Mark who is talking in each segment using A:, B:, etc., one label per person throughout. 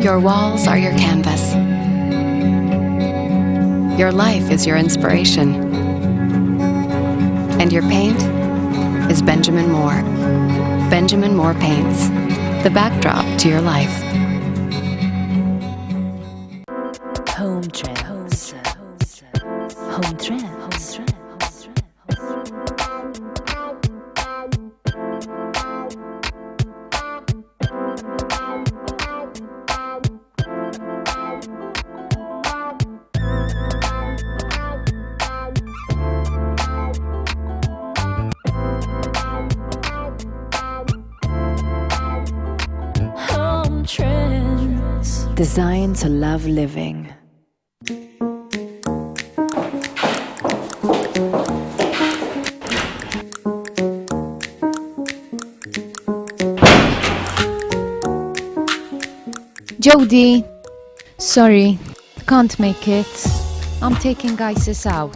A: Your walls are your canvas. Your life is your inspiration. And your paint is Benjamin Moore. Benjamin Moore Paints, the backdrop to your life.
B: Home Trends. Home Trends. Home Trends.
C: Designed to love living.
D: Jody, sorry, can't make it. I'm taking ISIS out.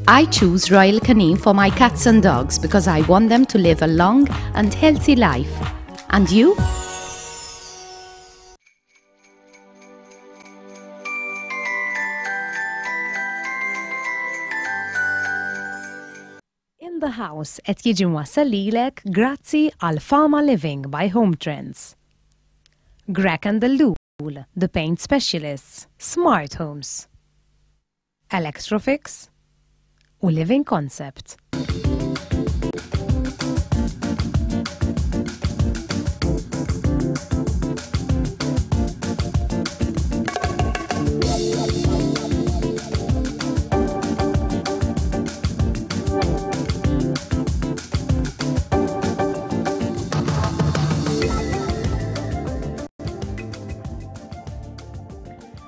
E: I choose Royal Canin for my cats and dogs because I want them to live a long and healthy life. And you?
F: In the House qed jiġi mwassal lilek grazzi għal Fama Living by Home Trends. Grek and the Lool, the paint specialists, Smart Homes. Electrofix u Living Concept.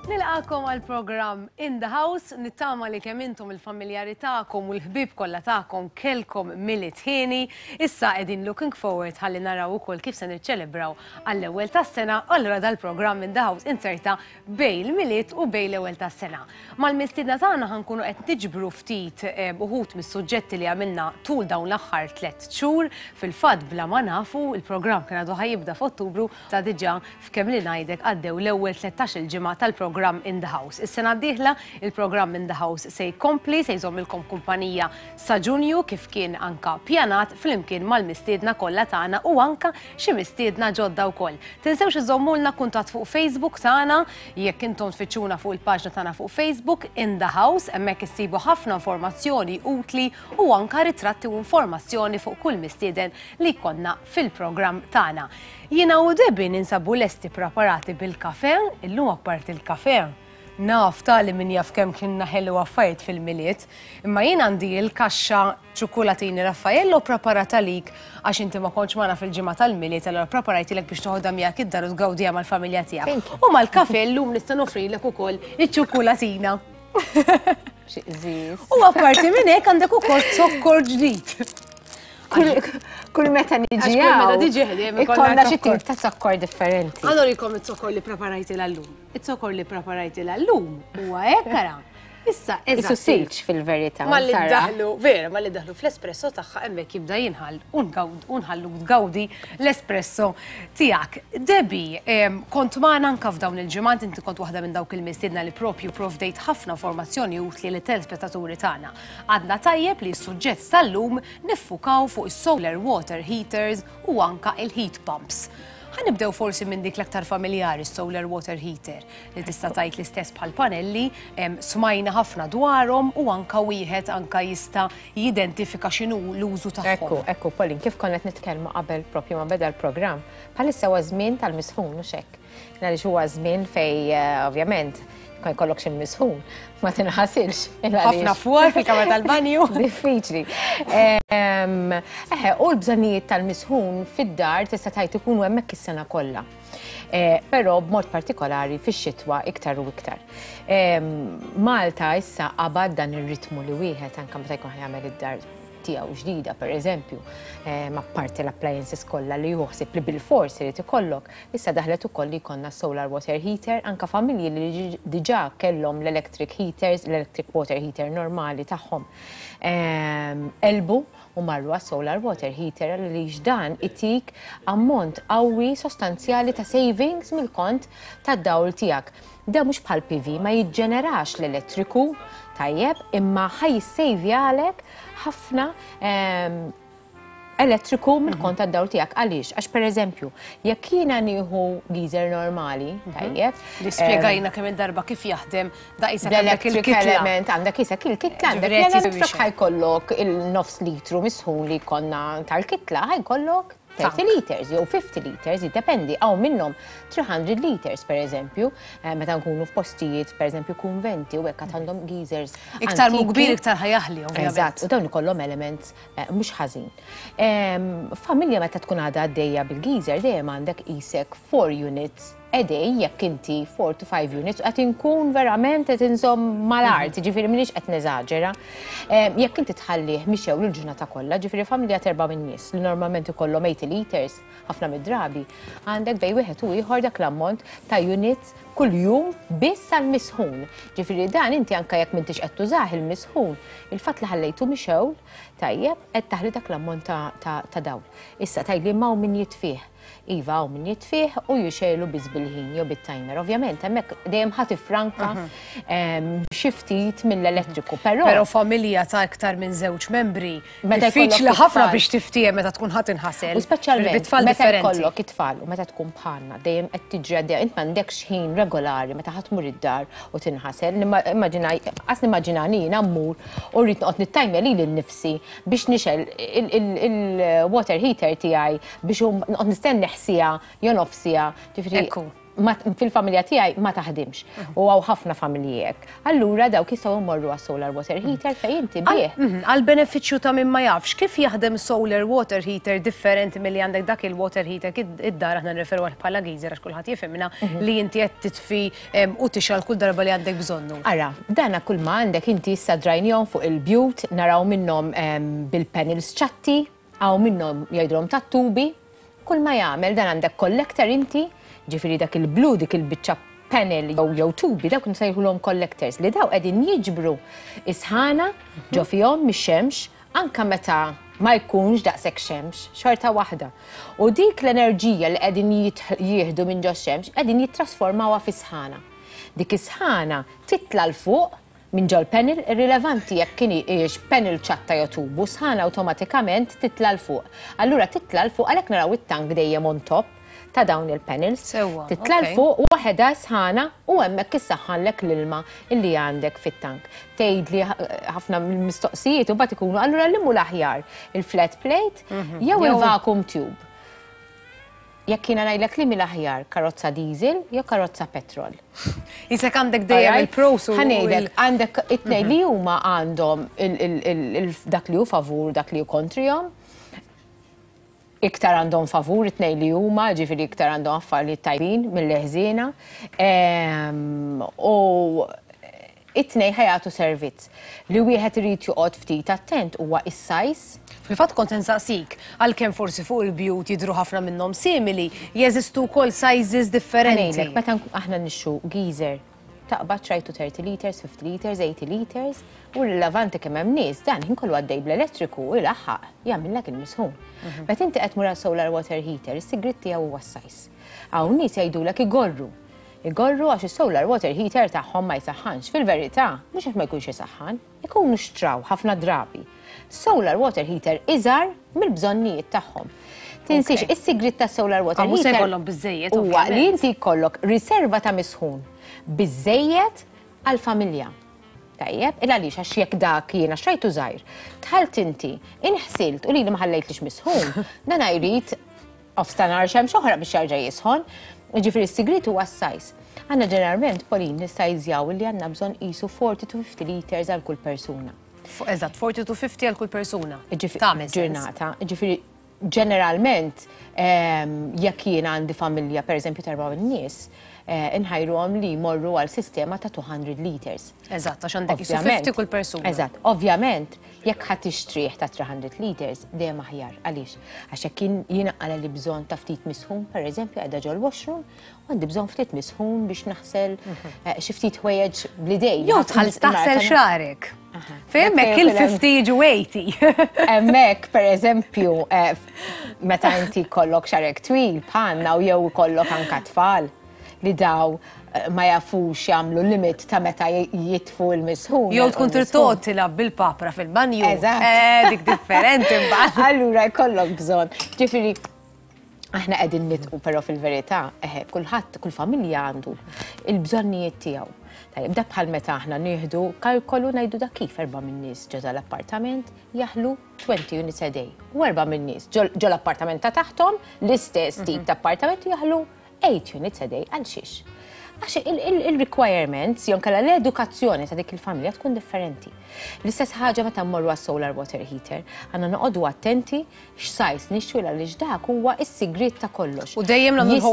G: Nilqakom għal programm In the House, nittama li kemm intom il-familjari tagħkom u l-ħbieb kollha tagħkom kellkom Milied ħieni. Issa qegħdin looking forward ħalli naraw ukoll kif se niċċelebraw għall-ewwel tas-sena, allura dal-programm In the House inserta bejn il-Milied u bejn l-ewwel tas-sena. Mal-mistiedna tagħna ħa nkunu qed niġbru ftit uħud mis-suġġetti li għamilna tul dawn l-aħħar tlett xhur. Fil-fatt bla ma nafu, il-programm kien għadu ħa jibda f'Ottubru, sa diġà f'kemm li ngħidek għaddew l-ewwel tlettax-il ġimgħa tal-programm In the House. Is-sena d-dieħla il-programm In the House se jkompli, se jżommilkom kumpanija sa Ġunju kif kien anka pjanat flimkien mal-mistiedna kollha tagħna u anka xi mistiedna ġodda wkoll. Tinsewx iżommulna kuntatt fuq Facebook tagħna, jekk intom tfittxuna fuq il-paġna tagħna fuq Facebook, In The House, hemmhekk issibu ħafna informazzjoni utli u anka ritratti u informazzjoni fuq kull mistieden li jkollna fil-programm tagħna. Jiena u Debbie ninsabu lesti preparati bil-kafè, illum apparti l-kafè, naf ta' li min jaf kemm kienna ħelu affarijiet fil-Milied, imma jien għandi l-kaxxa ċukkulatini Raffaello ppreparat għalik għax inti ma kontx magħna fil-ġimgħa tal-Milied allura ppreparajtilek biex toħodha miegħek id-dar u tgawdiha mal-familja tiegħek. U mal-kafè llum nista' noffrilek ukoll iċ-ċukkulatina.
H: Xi qżież.
G: U apparti minn hekk għandek ukoll zokkor ġdid.
H: Kull meta niġi.
G: Kull meta tiġi ħdejjem
H: ikollna xi tip ta' zokkor differenti.
G: Allora jkollhom iz-zokkor li ppreparajtilha llum. Iz-zokkor li ppreparajtilha llum huwa hekk ara. Issa,
H: eżatt. Isu silġ fil-verità.
G: Malli ddaħlu, vera, malli ddaħlu fl-espresso tagħha hemmhekk jibda jinħall u nħalluk tgawdi l-espresso tiegħek. Debbie, kont magħna anke f'dawn il-ġimgħat, inti kont waħda minn dawk il-mistiedna li propju provdejt ħafna informazzjoni utli lit-telespettaturi tagħna. Għadna tajjeb li s-suġġett tal-lum niffukaw fuq is-solar water heaters u anka il-heat pumps. Ħa nibdew forsi minn dik l-aktar familjari, solar water heater, li tista' tgħid l-istess bħal panelli, smajna ħafna dwarhom u anka wieħed anka jista' jidentifika x'inhu l-użu tagħhom.
H: Ekku, ekku, Pauline, kif konna qed nitkellmu qabel propju ma beda l-programm, bħalissa huwa żmien tal-misħun, mhux hekk? Għaliex huwa żmien fej eh, ovvjament ma jkollokx il-misħun, ma tinħasilx.
G: Ħafna fwar fil-kamra tal-banju.
H: Diffiċli. Eħe, u l-bżonnijiet tal-misħun fid-dar tista' tgħid ikunu hemmhekk is-sena kollha. Eh, però b'mod partikolari fix-xitwa iktar u iktar. Malta issa qabad dan ir-ritmu li wieħed anke meta jkun jagħmel id-dar. tiegħu ġdida pereżempju, apparti l-appliances kollha li hu ħsieb li bilfors irid ikollok, issa daħlet ukoll li jkollna solar water heater, anke familji li diġà kellhom l-electric heaters, l-electric water heater normali tagħhom qelbu u marru għas-solar water heater għaliex dan itik ammont qawwi sostanzjali ta' savings mill-kont tad-dawl tiegħek. Dan mhux bħal PV ma jiġġenerax l-elettriku, tajjeb, imma ħa jissejvjalek ħafna elettriku mill-kont tad-dawl tiegħek. Għaliex? Għax pereżempju, jekk jiena nieħu geyser normali, tajjeb.
G: Li spjegajna kemm il-darba kif jaħdem da qisek għandek
H: il-kitla. Element, għandek qisek il-kitla, għandek l-element ħa jkollok il-nofs litru misħun li jkollna tal-kitla, ħa jkollok 30 liters jew 50 liters, jiddependi, hawn minnhom 300 liters per eżempju, meta nkunu f'postijiet per eżempju kunventi u hekk għad għandhom geysers.
G: Iktar mhu kbir iktar ħa jaħli, ovvjament.
H: Eżatt, u dawn ikollhom elements mhux ħażin. Familja meta tkun għadha għaddejja bil-geyser dejjem għandek qisek 4 units a day jekk inti 4 to 5 units qed inkun verament qed inżomm mal-art, ġifieri m'iniex qed neżaġera. Jekk inti tħallih mixew l-ġurnata kollha, ġifieri familja t'erba' min-nies li normalment ikollhom 80 liters ħafna mid-drabi, għandek bejn wieħed u ieħor dak l-ammont ta' units kuljum biss għall-misħun. Ġifieri dan inti anke jekk m'intix qed tużah il-misħun, il-fatt li ħallejtu mixewl, tajjeb, qed taħli dak l-ammont ta' dawl. Issa tgħidli imma hawn min jitfih. Iva, hawn min jitfih u jixegħlu biss bil-ħin jew bit-timer. Ovvjament, hemmhekk dejjem ħa tifranka xi ftit mill-elettriku, però.
G: Però familja ta' iktar minn żewġ membri, diffiċli ħafna biex tiftiehem meta tkun ħa tinħasel.
H: U speċjalment meta jkollok it-tfal u meta tkun bħalna, dejjem qed tiġri għaddejja, int m'għandekx ħin regolari meta ħa tmur id-dar u tinħasel. Immaġina, qas nimmaġinani jiena mmur u rrid noqgħod nittajmja lili nnifsi biex nixgħel il-water heater tiegħi biex noqgħod nistenni siegħa jew nofs siegħa, ġifieri fil-familja tiegħi ma taħdimx. U hawn ħafna familji hekk. Allura dawk jistgħu jmorru għas-solar water heater fejn inti bih.
G: Għall-benefiċċju ta' min ma jafx, kif jaħdem solar water heater differenti milli għandek dak il-water heater id-dar aħna nirreferu għalih bħala geyser għax kulħadd jifhimna li inti qed titfi u tixgħal kull darba li għandek bżonnu.
H: Ara, dana kull ma għandek inti issa drajnihom fuq il-bjut, naraw minnhom bil-panels ċatti, Hawn minnhom jgħidulhom tat-tubi, kull ma jagħmel dan għandek collector inti, ġifieri dak il-blu dik il-biċċa panel jew jew tubi dawk nsejħulhom collectors li daw qegħdin jiġbru is-sħana ġo fihom mix-xemx anke meta ma jkunx daqshekk xemx, xorta waħda. U dik l-enerġija li qegħdin jieħdu minn ġox-xemx qegħdin jittrasformawha fi sħana. Dik is-sħana titla' 'l fuq Minn ġol-panel, irrilevanti jekk hijiex panel ċatta jew tubu, sħana awtomatikament titla' 'l fuq. Allura titla' 'l fuq għalhekk naraw it-tank dejjem on top ta' dawn il-panels.
G: Sewwa,
H: Titla' 'l
G: okej.
H: fuq waħedha s-sħana u hemmhekk issaħħanlek l-ilma li għandek fit-tank. Tgħidli ħafna mill-mistoqsijiet imbagħad ikunu allura liema hu l-aħjar, il-flat plate jew il-vacuum tube? Jekk jiena ngħidlek liemi l-aħjar, karozza diesel jew karozza petrol?
G: Isek għandek dejjem il-pros u.
H: Ħa ngħidlek, għandek it-tnejn li huma għandhom dak li hu favur, dak li hu kontrihom. Iktar għandhom favur it-tnejn li huma, ġifieri iktar għandhom affarijiet tajbin milli ħżiena. U It-tnejn ħa jagħtu servizz. Li wieħed irid joqgħod ftit attent huwa is-size.
G: Fil-fatt kont se nsaqsik, għalkemm forsi fuq il-bjut jidhru ħafna minnhom simili, jeżistu wkoll sizes differenti.
H: Ħa ngħidlek, meta aħna nixtru geyser, taqbad xtrajtu 30 liters, 50 liters, 80 liters, u rilevanti kemm hemm nies, dan ħin kollu għaddej bl-elettriku u jlaħħaq jagħmillek il-misħun. Meta inti qed tmur għal solar water heater, is-sigriet tiegħu huwa s-size. Hawn nies jgħidulek igorru. Igorru għax is-solar water heater tagħhom ma jsaħħanx. Fil-verità, mhux għax ma jkunx isaħħan, ikunu xtraw ħafna drabi solar water heater iżgħar mill-bżonnijiet tagħhom. Tinsiex, is-sigriet tas-solar water heater huwa li inti jkollok riserva ta' misħun biżżejjed għall-familja. Tajjeb, il għaliex għax jekk dak jiena xtrajtu żgħir, dħalt inti, inħsilt u lili ma ħallejtlix misħun, dan jrid Nofs ta' nhar xemx oħra biex jerġa' jisħon. Jiġifieri s-sigriet huwa s-size. Aħna ġeneralment, Pauline, nissajżjaw li għandna bżonn qisu 40 to 50 liters għal kull persuna.
G: Eżatt, 40 to 50 għal kull persuna.
H: Tagħmel ġurnata. Jiġifieri ġeneralment jekk jiena għandi familja pereżempju ta' erba' min-nies, inħajruhom li jmorru għal sistema ta' 200 liters.
G: Eżatt, għax għandek qisu 50 kull persuna.
H: Eżatt, ovvjament. Jekk ħa tixtrih ta' 300 liters, dejjem aħjar. Għaliex? Għax jekk jiena qala li bżonn ta' ftit misħun, per eżempju, qiegħda ġol-washroom, u għandi bżonn ftit misħun biex naħsel xi ftit ħwejjeġ bl-idejn.
G: Jew tħall taħsel xagħrek. Fejn hemmhekk il-50 jiġu 80.
H: Hemmhekk, per eżempju, meta inti jkollok xagħrek twil bħalna u jew ikollok anka tfal li daw ma jafux jagħmlu limit ta' meta jitfu l-misħun.
G: Jew tkun trid toqgħod tilgħab bil-papra fil-banju.
H: Eżatt.
G: Dik differenti mbagħad.
H: Allura jkollok bżonn. Ġifieri aħna qegħdin nitqu però fil-verità, eħe, kulħadd, kull familja għandu il-bżonnijiet tiegħu. Tajjeb, dak bħal meta aħna nieħdu kalkolu ngħidu dak kif erba' min-nies ġo dal-appartament jaħlu 20 units a day. U erba' min-nies ġo l-appartament ta' taħthom, l-istess tip ta' appartament jaħlu 8 units a day. Għal xiex? Għax il-requirements, jew inkella l-edukazzjoni ta' dik il-familja tkun differenti. L-istess ħaġa meta mmorru għas-solar water heater, għandna noqogħdu attenti x'size nixtru għaliex dak huwa s-sigriet ta' kollox.
G: U dejjem nagħmlu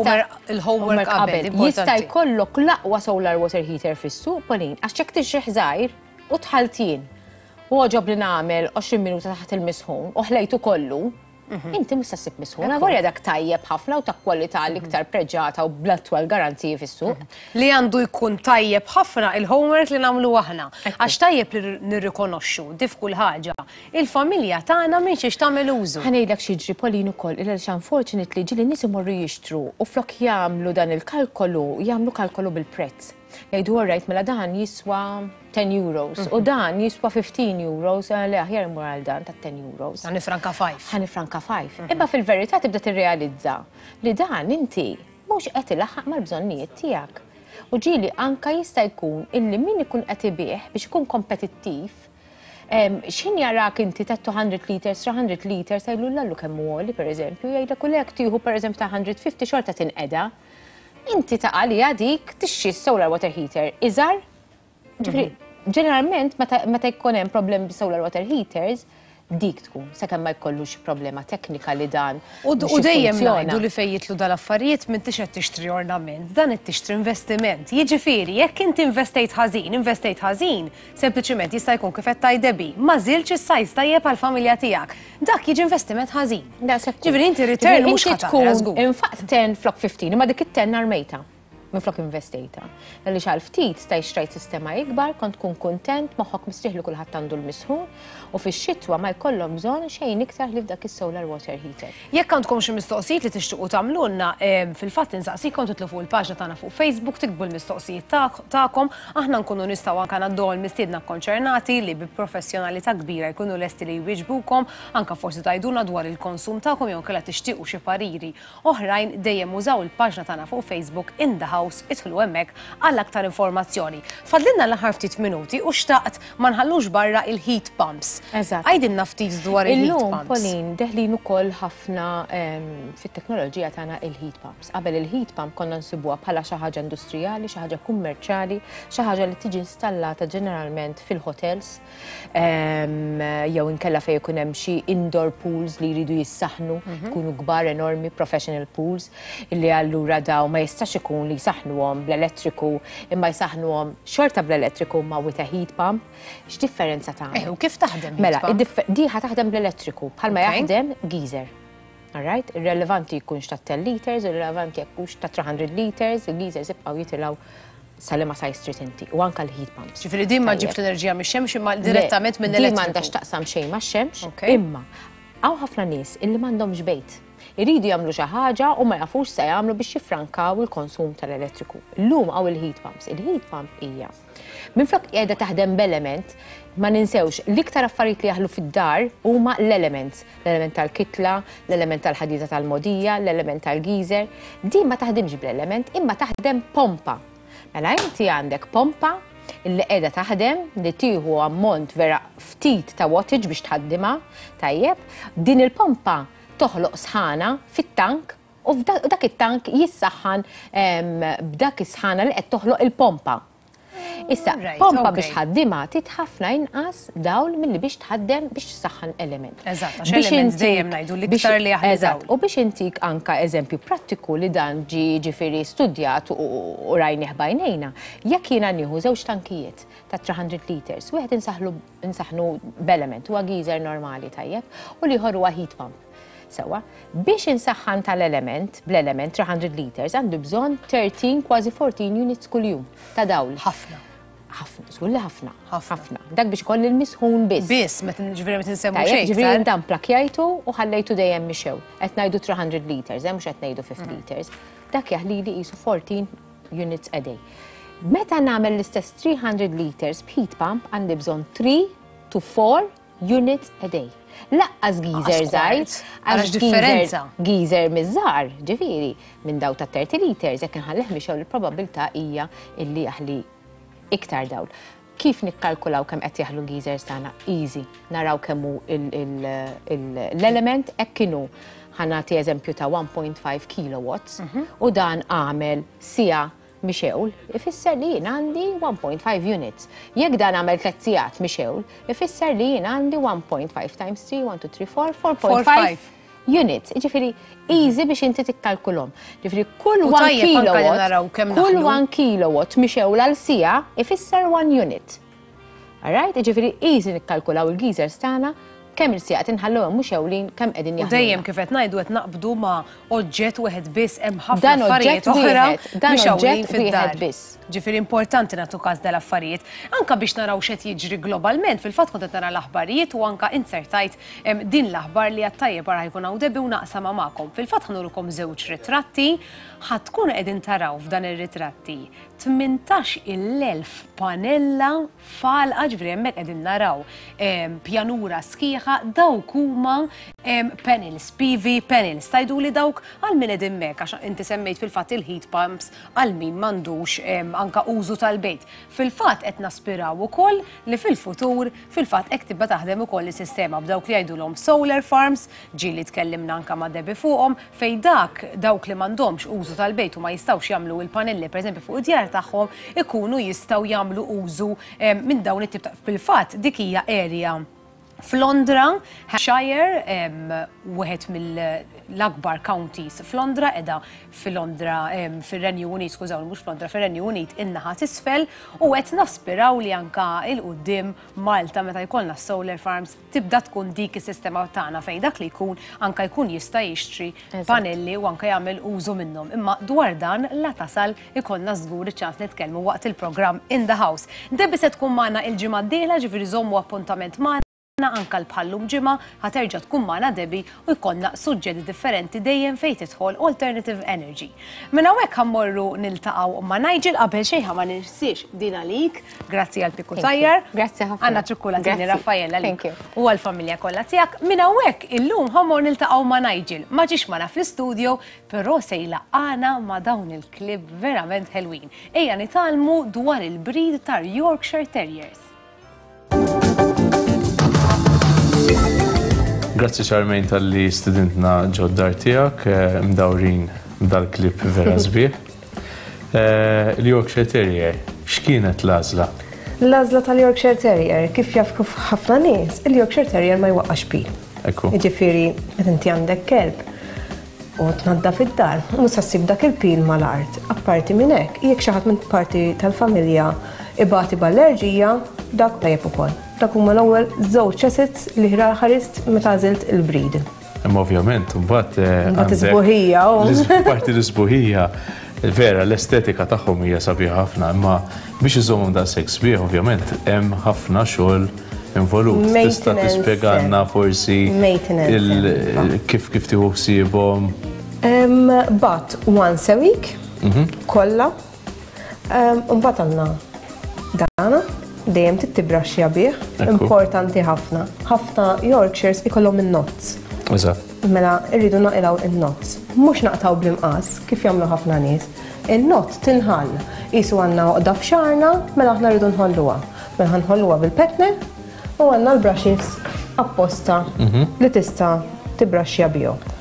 G: il-homework qabel,
H: Jista' jkollok l-aqwa solar water heater fis-suq, Pauline, għax jekk tixrih żgħir u tħaltin u għoġob li nagħmel 20 minuta taħt il-misħun u ħlejtu kollu, inti mhux se ssib misħun. Avolja dak tajjeb ħafna u ta' kwalità l-iktar preġata u bl-attwal garanziji fis-suq.
G: Li għandu jkun tajjeb ħafna il-homework li nagħmlu aħna. Għax tajjeb li nirrikonoxxu dif kull ħaġa. Il-familja tagħna minn xiex tagħmel użu.
H: Ħa ngħidlek x'jiġri Pauline ukoll, għaliex unfortunately ġieli nies imorru jixtru u flok jagħmlu dan il-kalkolu, jagħmlu kalkolu bil-prezz. Jgħidu all right, mela dan jiswa 10 euros u dan jiswa 15 euros, le aħjar imur għal dan ta' 10 euros.
G: Ħa nifranka 5.
H: Ħa nifranka 5. Imma fil-verità tibda tirrealizza li dan inti mhux qed ilaħħaq mal-bżonnijiet tiegħek. U ġieli anka jista' jkun illi min ikun qed ibih biex ikun kompetittiv, x'ħin jarak inti ta' 200 liters, 300 liters, jgħidlu lallu kemm hu għoli, per eżempju, jgħidlek u lek tieħu per eżempju ta' 150 xorta tinqeda. Inti ta' għalija dik tixtri solar water heater iżgħar. Ġifieri, ġeneralment meta jkun hemm problemi bi solar water heaters, dik tkun, sakemm ma jkollux problema teknika li dan
G: U
H: mhux
G: dejjem
H: jiffunzjona.
G: ngħidu li fejn jitlu dal-affarijiet m'intix qed tixtri ornament, dan qed tixtri investiment. Jiġifieri, jekk inti investejt ħażin, investejt ħażin, sempliċiment jista' jkun kif qed tgħid Debbie, ma żilx is-size tajjeb għall-familja tiegħek. Dak jiġi investiment ħażin.
H: Daqshekk.
G: Ġifieri inti return
H: Ġifieri
G: mhux
H: inti
G: ħa tara
H: tkun
G: żgur.
H: Infaqt 10 flok 15, imma dik it-10 armejta. Minflok investejta. Għaliex għal ftit staj xtrajt sistema ikbar, kont tkun kontent, moħħok mistrieħ li kulħadd għandu l-misħun, u fix-xitwa ma jkollhom bżonn xejn iktar li f'dak is-solar water heater.
G: Jekk għandkom xi mistoqsijiet li tixtiequ tagħmlulna, fil-fatt insaqsikom titlu fuq il-paġna tagħna fuq Facebook, tiktbu l-mistoqsijiet tagħkom, aħna nkunu nistgħu anke ngħaddu l-mistiedna konċernati li bi professjonalità kbira jkunu lesti li jwieġbukom, anke forsi tgħidulna dwar il-konsum tagħkom jew inkella tixtiequ xi pariri oħrajn, dejjem użaw il-paġna tagħna fuq Facebook In The House, idħlu hemmhekk għal aktar informazzjoni. Fadlilna l-aħħar ftit minuti u xtaqt ma nħallux barra il-heat pumps. Għidilna ftit dwar il-heat
H: Illum,
G: pumps.
H: Pauline, deħlin ukoll ħafna fit-teknoloġija tagħna il-heat pumps. Qabel il-heat pump konna nsibuha bħala xi ħaġa industrijali, xi ħaġa kummerċjali, xi ħaġa li tiġi installata ġeneralment fil-hotels, jew inkella fejn ikun hemm xi indoor pools li jridu jissaħnu, ikunu kbar enormi, professional pools, illi allura daw ma jistax ikun li jisaħnuhom bl-elettriku, imma jisaħnuhom xorta bl-elettriku ma with a heat pump. X'differenza tagħmel?
G: U kif taħdem heat
H: Mela,
G: pump?
H: di ħa taħdem bl-elettriku, bħalma jaħdem geyser. All right? Irrelevanti jkunx ta' 10 liters, irrelevanti jkunx ta' 300 liters, il-geysers jibqgħu jitilgħu sal-ma size trid inti, u anka l-heat pumps.
G: Ġifieri din ma
H: Tajjeb.
G: ġibx l-enerġija mix-xemx imma
H: Le,
G: direttament minn
H: Din
G: elettriku.
H: m'għandax taqsam xejn max-xemx, imma hawn ħafna nies illi m'għandhomx bejt. Iridu jagħmlu xi ħaġa u ma jafux se jagħmlu biex jiffrankaw il-konsum tal-elettriku. Illum hawn il-heat pumps. Il-heat pump hija minflok qiegħda taħdem b'element, ma ninsewx l-iktar affarijiet li jaħlu fid-dar huma l-elements. L-element tal-kitla, l-element tal-ħadida tal-modija, l-element tal-geyser. Din ma taħdimx bl-element, imma taħdem pompa. Mela inti għandek pompa illi qiegħda taħdem li tieħu ammont vera ftit ta' wattage biex tħaddimha, tajjeb. Din il-pompa toħloq sħana fit-tank u dak it-tank jissaħħan b'dak is-sħana li qed toħloq il-pompa. Issa, pompa biex tħaddimha trid ħafna inqas dawl milli biex tħaddem biex tsaħħan element.
G: Eżatt, għax element dejjem ngħidu l-iktar li jaħli
H: dawl. U biex intik anka eżempju prattiku li dan ġie ġifieri studjat u rajnih b'għajnejna, jekk jiena nieħu żewġ tankijiet ta' 300 liters, wieħed insaħħlu insaħħnu b'element, huwa geyser normali tajjeb, u l-ieħor huwa heat pump. Sewwa, biex insaħħan tal-element, bl-element 300 liters, għandu bżonn 13 kważi 14 units kuljum ta' dawl.
G: Ħafna.
H: Ħafna, żgur li ħafna. Ħafna. Dak biex ikolli l-misħun biss.
G: Biss, meta ġifieri meta nsemmu xejn.
H: Ġifieri dan plakjajtu u ħallejtu dejjem mixew. Qed ngħidu 300 liters, eh, mhux qed ngħidu 50 mm. liters. Dak jaħlili qisu 14 units a day. Meta nagħmel l-istess 300 liters b'heat pump għandi bżonn 3 to 4 units a day. Laqqas geyser żgħir,
G: għax differenza.
H: Geyser miż-żgħar, ġifieri, minn daw ta' 30 liters, jekk inħallih mixgħul il-probabbiltà hija illi jaħli iktar dawl. Kif nikkalkulaw kemm qed jaħlu l-geysers tagħna? Easy. Naraw kemm hu l-element hekk inhu. Ħa nagħti eżempju ta' 1.5 kilowatts u dan għamel siegħa mixewl, ifisser li jien għandi 1.5 units. Jekk dan għamel tliet sigħat mixewl, ifisser li jien għandi 1.5 times 3, 1, 2, 3, 4, 4.5 units. Ġifieri, easy biex inti tikkalkulhom. Ġifieri, kull 1 kilowatt, kull 1 kilowatt mixewl għal siegħa ifisser 1 unit. Alright? Ġifieri, easy nikkalkulaw il-geysers tagħna kemm il-sigħat inħalluhom mhux ewlin kemm qegħdin jaħdmu.
G: U dejjem kif qed ngħidu qed naqbdu ma' oġġett wieħed biss hemm ħafna affarijiet oħra
H: dan oġġett wieħed biss.
G: Ġifieri importanti nagħtu każ dal-affarijiet. Anka biex naraw x'qed jiġri globalment, fil-fatt kont qed nara l-aħbarijiet u anka inzertajt din l-aħbar li għat-tajjeb ara ħa jkun hawn Debbie u naqsamha magħkom. Fil-fatt ħa nurukom żewġ ritratti, ħa tkunu qegħdin taraw f'dan ir-ritratti 18,000 panella f'għalqa, ġifieri hemmhekk qegħdin naraw pjanura sħiħa, dawk huma panels, PV panels. Tgħiduli dawk għal min qegħdin hemmhekk għax inti semmejt fil-fatt il-heat pumps għal min m'għandux anka użu tal-bejt. Fil-fatt qed naspiraw ukoll li fil-futur fil-fatt hekk tibda taħdem ukoll is-sistema b'dawk li jgħidulhom solar farms, ġieli tkellimna anka ma' Debbie fuqhom, fejn dak dawk li m'għandhomx użu tal-bejt u ma jistgħux jagħmlu il-panelli pereżempju fuq id-djar tagħhom ikunu jistgħu jagħmlu użu minn dawn it-tip ta' fil-fatt dik hija area f'Londra, Hampshire, wieħed mill-akbar counties f'Londra, qiegħda f'Londra fir-Renju Unit, skużawni mhux f'Londra, fir-Renju Unit in-naħa t'isfel u qed naspiraw li anka 'l quddiem Malta meta jkollna s-solar farms tibda tkun dik is-sistema tagħna fejn dak li jkun anka jkun jista' jixtri panelli u anka jagħmel użu minnhom. Imma dwar dan la tasal ikollna żgur iċ-ċans nitkellmu waqt il-programm In the House. Debbie se tkun magħna il-ġimgħa d-dieħla ġifieri żommu appuntament magħna anka l-bħallum ġimgħa ħa terġa' tkun magħna Debbie u jkollna suġġetti differenti dejjem fejn tidħol Alternative Energy. Minn hawnhekk ħa mmorru niltaqgħu ma' Nigel qabel xejn ħa ma ninsiex din għalik. Grazzi għal Pikku Tajjar.
H: Grazzi ħafna.
G: Għandna ċukkulatini Raffaella li u għall-familja kollha tiegħek. Minn hawnhekk illum ħa mmorru niltaqgħu ma' Nigel. Ma ġiex magħna fl-istudio, però se jlaqqagħna ma' dawn il-klieb verament ħelwin. Ejja nitgħallmu dwar il-breed tar-Yorkshire Terriers.
I: Grazzi Charmaine talli stidintna ġod-dar tiegħek mdawrin b'dal-klieb vera sbieħ. Il-Yorkshire Terrier, x'kienet l-għażla?
J: L-għażla tal-Yorkshire Terrier, kif jaf ħafna nies, il-Yorkshire Terrier ma jwaqqax pil.
I: Ekku.
J: Jiġifieri, meta inti għandek kelb u tnaddaf id-dar, mhux se ssib dak il-pil mal-art. Apparti minn hekk, jekk xi ħadd minn parti tal-familja ibati b'allerġija, dak tajjeb ukoll. Dak huma l-ewwel żewġ assets li ħarist meta għażilt il-breed.
I: Imma ovvjament, mbagħad eh,
J: Mbagħad is-sbuħija.
I: Parti l-isbuħija, vera, l-estetika tagħhom hija sabiħa ħafna, imma biex iżommhom daqshekk sbieħ ovvjament hemm ħafna xogħol involut. Tista' tispjegalna forsi kif kif tieħu ħsiebhom?
J: But once a week, mhm. kollha Mbagħad għandna dana, dejjem trid tibraxxja bih, importanti ħafna. Ħafna Yorkshires ikollhom in-knots.
I: Eżatt.
J: Mela rridu naqilgħu in-knots. Mhux naqtgħu bl-imqass kif jagħmlu ħafna nies. In-knot tinħall. Qisu għandna għoqda f'xagħarna, mela aħna rridu nħolluha. Mela ħa nħolluha bil-petne u għandna l-brushes apposta li tista' tibraxxja bihom.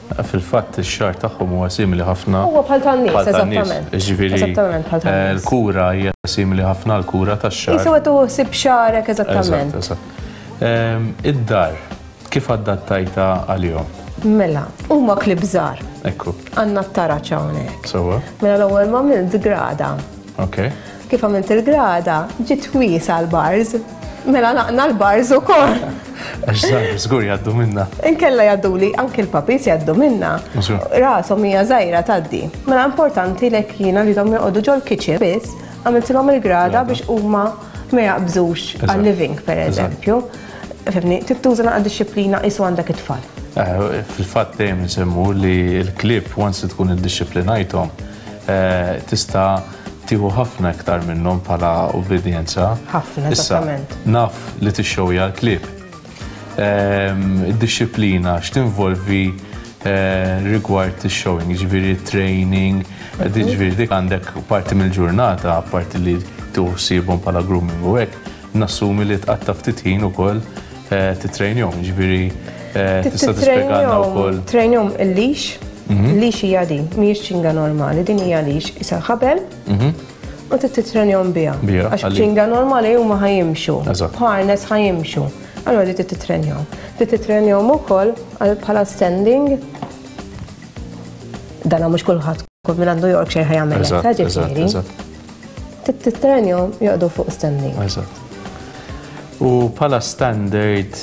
I: Fil-fatt ix-xagħar tagħhom huwa simili ħafna.
J: Huwa bħal tan-nies, eżattament.
I: Jiġifieri
J: Eżattament bħal tan-nies.
I: L-kura hija simili ħafna għall-kura tax-xagħar.
J: Qisu qed tieħu ħsieb xagħrek eżattament.
I: Eżatt, eżatt. Id-dar kif adattajtha għalihom?
J: Mela, huma klieb żgħar.
I: Ekku.
J: Għandna t-taraġ hawnhekk.
I: Sewwa.
J: Mela l-ewwel ma għamilt grada.
I: Ok.
J: Kif għamilt il-grada, ġiet wiesgħa l-bars. Mela naqna l-bars ukoll.
I: Għax żgħar żgur jgħaddu minna.
J: Inkella jgħadduli anki l-puppies jgħaddu minna. Rashom hija żgħira tgħaddi. Mela importanti lek jiena rridhom joqogħdu ġol-kitchen biss, għamiltilhom il-grada biex huma ma jaqbżux għal-living pereżempju. Fimni, trid tuża naqra dixxiplina qisu għandek it-tfal.
I: Eh, fil-fatt dejjem insemmu li l-klieb once li tkun iddixxiplinajthom eh, tista' tieħu ħafna iktar minnhom bħala ubbidjenza.
J: Ħafna, eżattament.
I: Naf li tixxowja l-klieb. Ehm, id-dixxiplina x'tinvolvi eh, rigward ix-showing, jiġifieri training, mhm. jiġifieri dik għandek parti mill-ġurnata, parti li tieħu ħsiebhom bħala grooming u hekk, nassumi li tqatta' ftit ħin ukoll eh, titrejnjhom, jiġifieri eh, tista' tispjegalna wkoll.
J: Trejnjhom il-leash, mhm. leash hija din, mhijiex ċinga normali, din hija leash, isa ħabel. Mhm. U trid titrenjhom biha. Għax ċinga normali huma ħajimxu. Harness ħajimxu. Allora di trid titrenjhom. Trid titrenjhom ukoll bħala standing. Dana mhux kulħadd kull min għandu Yorkshire ħajamel hekk, ġifieri. Titrenjhom joqogħdu fuq standing.
I: Eżatt. U bħala standard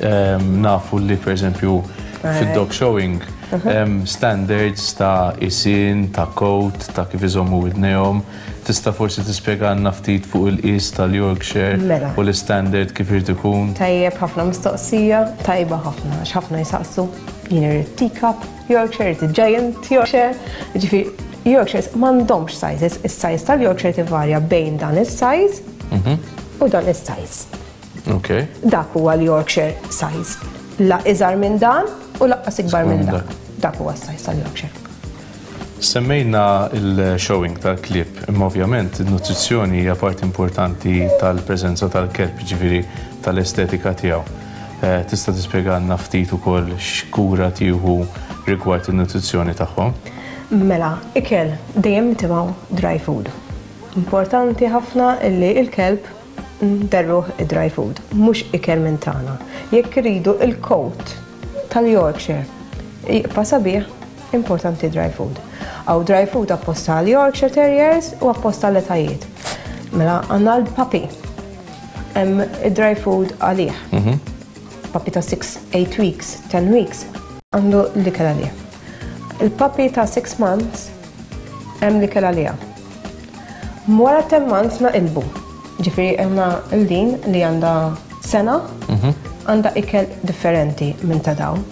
I: ehm, nafu li pereżempju fid-dog showing hemm standards ta' isin, ta' coat, ta' kif iżommu widnejhom. Tista' forsi tispjegalna ftit fuq il-qies tal-Yorkshire
J: mela.
I: u l-istandard kif irid ikun?
J: Tajjeb ħafna mistoqsija, tajba ħafna, għax ħafna jisaqsu jien irid teacup, Yorkshire, irid giant Yorkshire, ġifieri Yorkshires m'għandhomx sizes, is-size tal-Yorkshire tivarja bejn dan is-size mhm. u dan is-size.
I: Ok.
J: Dak huwa l-Yorkshire size. La iżgħar minn dan u laqqas ikbar minn dak. Dak huwa s-size tal-Yorkshire.
I: Semmejna il-showing tal-klieb, imma ovvjament il-nutrizzjoni hija parti importanti tal-preżenza tal-kelb, ġifieri tal-estetika tiegħu. Eh, tista' tispjegalna ftit ukoll x'kura tieħu rigward in-nutrizzjoni tagħhom?
J: Mela, ikel dejjem nitimgħu dry food. Importanti ħafna illi il-kelb nderruh id-dry food, mhux ikel minn tagħna. Jekk iridu il-coat tal-Yorkshire jibqa' sabiħ, importanti dry food. Hawn dry food apposta għal Yorkshire Terriers u apposta għall etajiet. Mela għandna l-puppy. Hemm id-dry food għalih. Mhm. Puppy ta' 6, 8 weeks, 10 weeks għandu l-ikel għalih. Il-puppy ta' 6 months hemm l-ikel għaliha. Wara 10 months naqilbu. Ġifieri għandna l-din li għandha sena, mhm. għandha ikel differenti minn ta' dawn.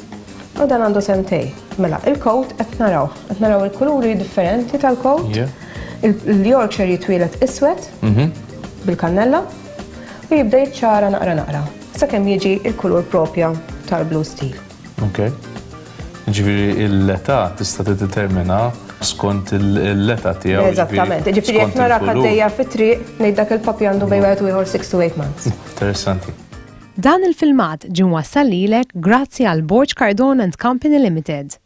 J: U dan għandu sentej. Mela, il-coat qed naraw. Qed naraw il-kuluri differenti tal-coat. Il-Yorkshire jitwielet iswed mhm. bil-kannella u jibda jiċċara naqra naqra sakemm jiġi il-kulur propja tal-blue steel.
I: Ok. Ġifieri l-età tista' tiddetermina skont l-età tiegħu.
J: Eżattament. Ġifieri jekk narak għaddejja fit-triq ngħid dak il-puppy għandu bejn wieħed u ieħor 6 to 8 months.
I: Interessanti.
F: Dan il-filmat ġie mwassal lilek grazzi għal Borg Cardone and Company Limited.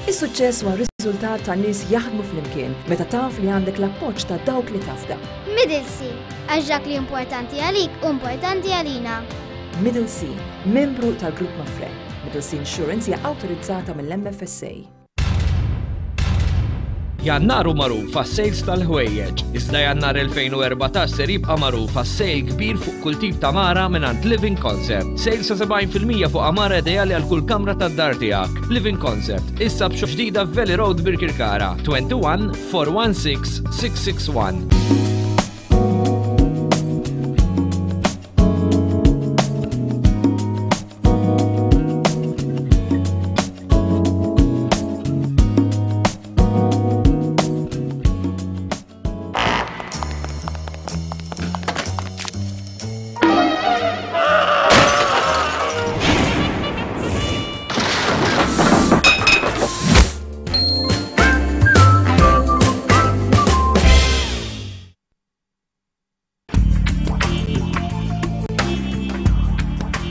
K: Is-suċċess huwa riżultat ta' nies jaħdmu flimkien meta taf li għandek l-appoġġ ta' dawk li tafda.
L: Middle Sea, għax dak li importanti għalik u importanti għalina.
K: Middle Sea, membru tal-Grupp Mapfre. Middle Sea Insurance hija awtorizzata mill-MFSA.
M: Jannar hu magħruf għas-sales tal-ħwejjeġ, iżda Jannar 2014 ser jibqa' magħruf għas-sale kbir fuq kull tip ta' għamara mingħand Living Concept. Sale sa 70% fuq għamara ideali għal kull kamra tad-dar tiegħek. Living Concept, issa b'xop ġdida f'Valley Road Birkirkara, 21 416 661.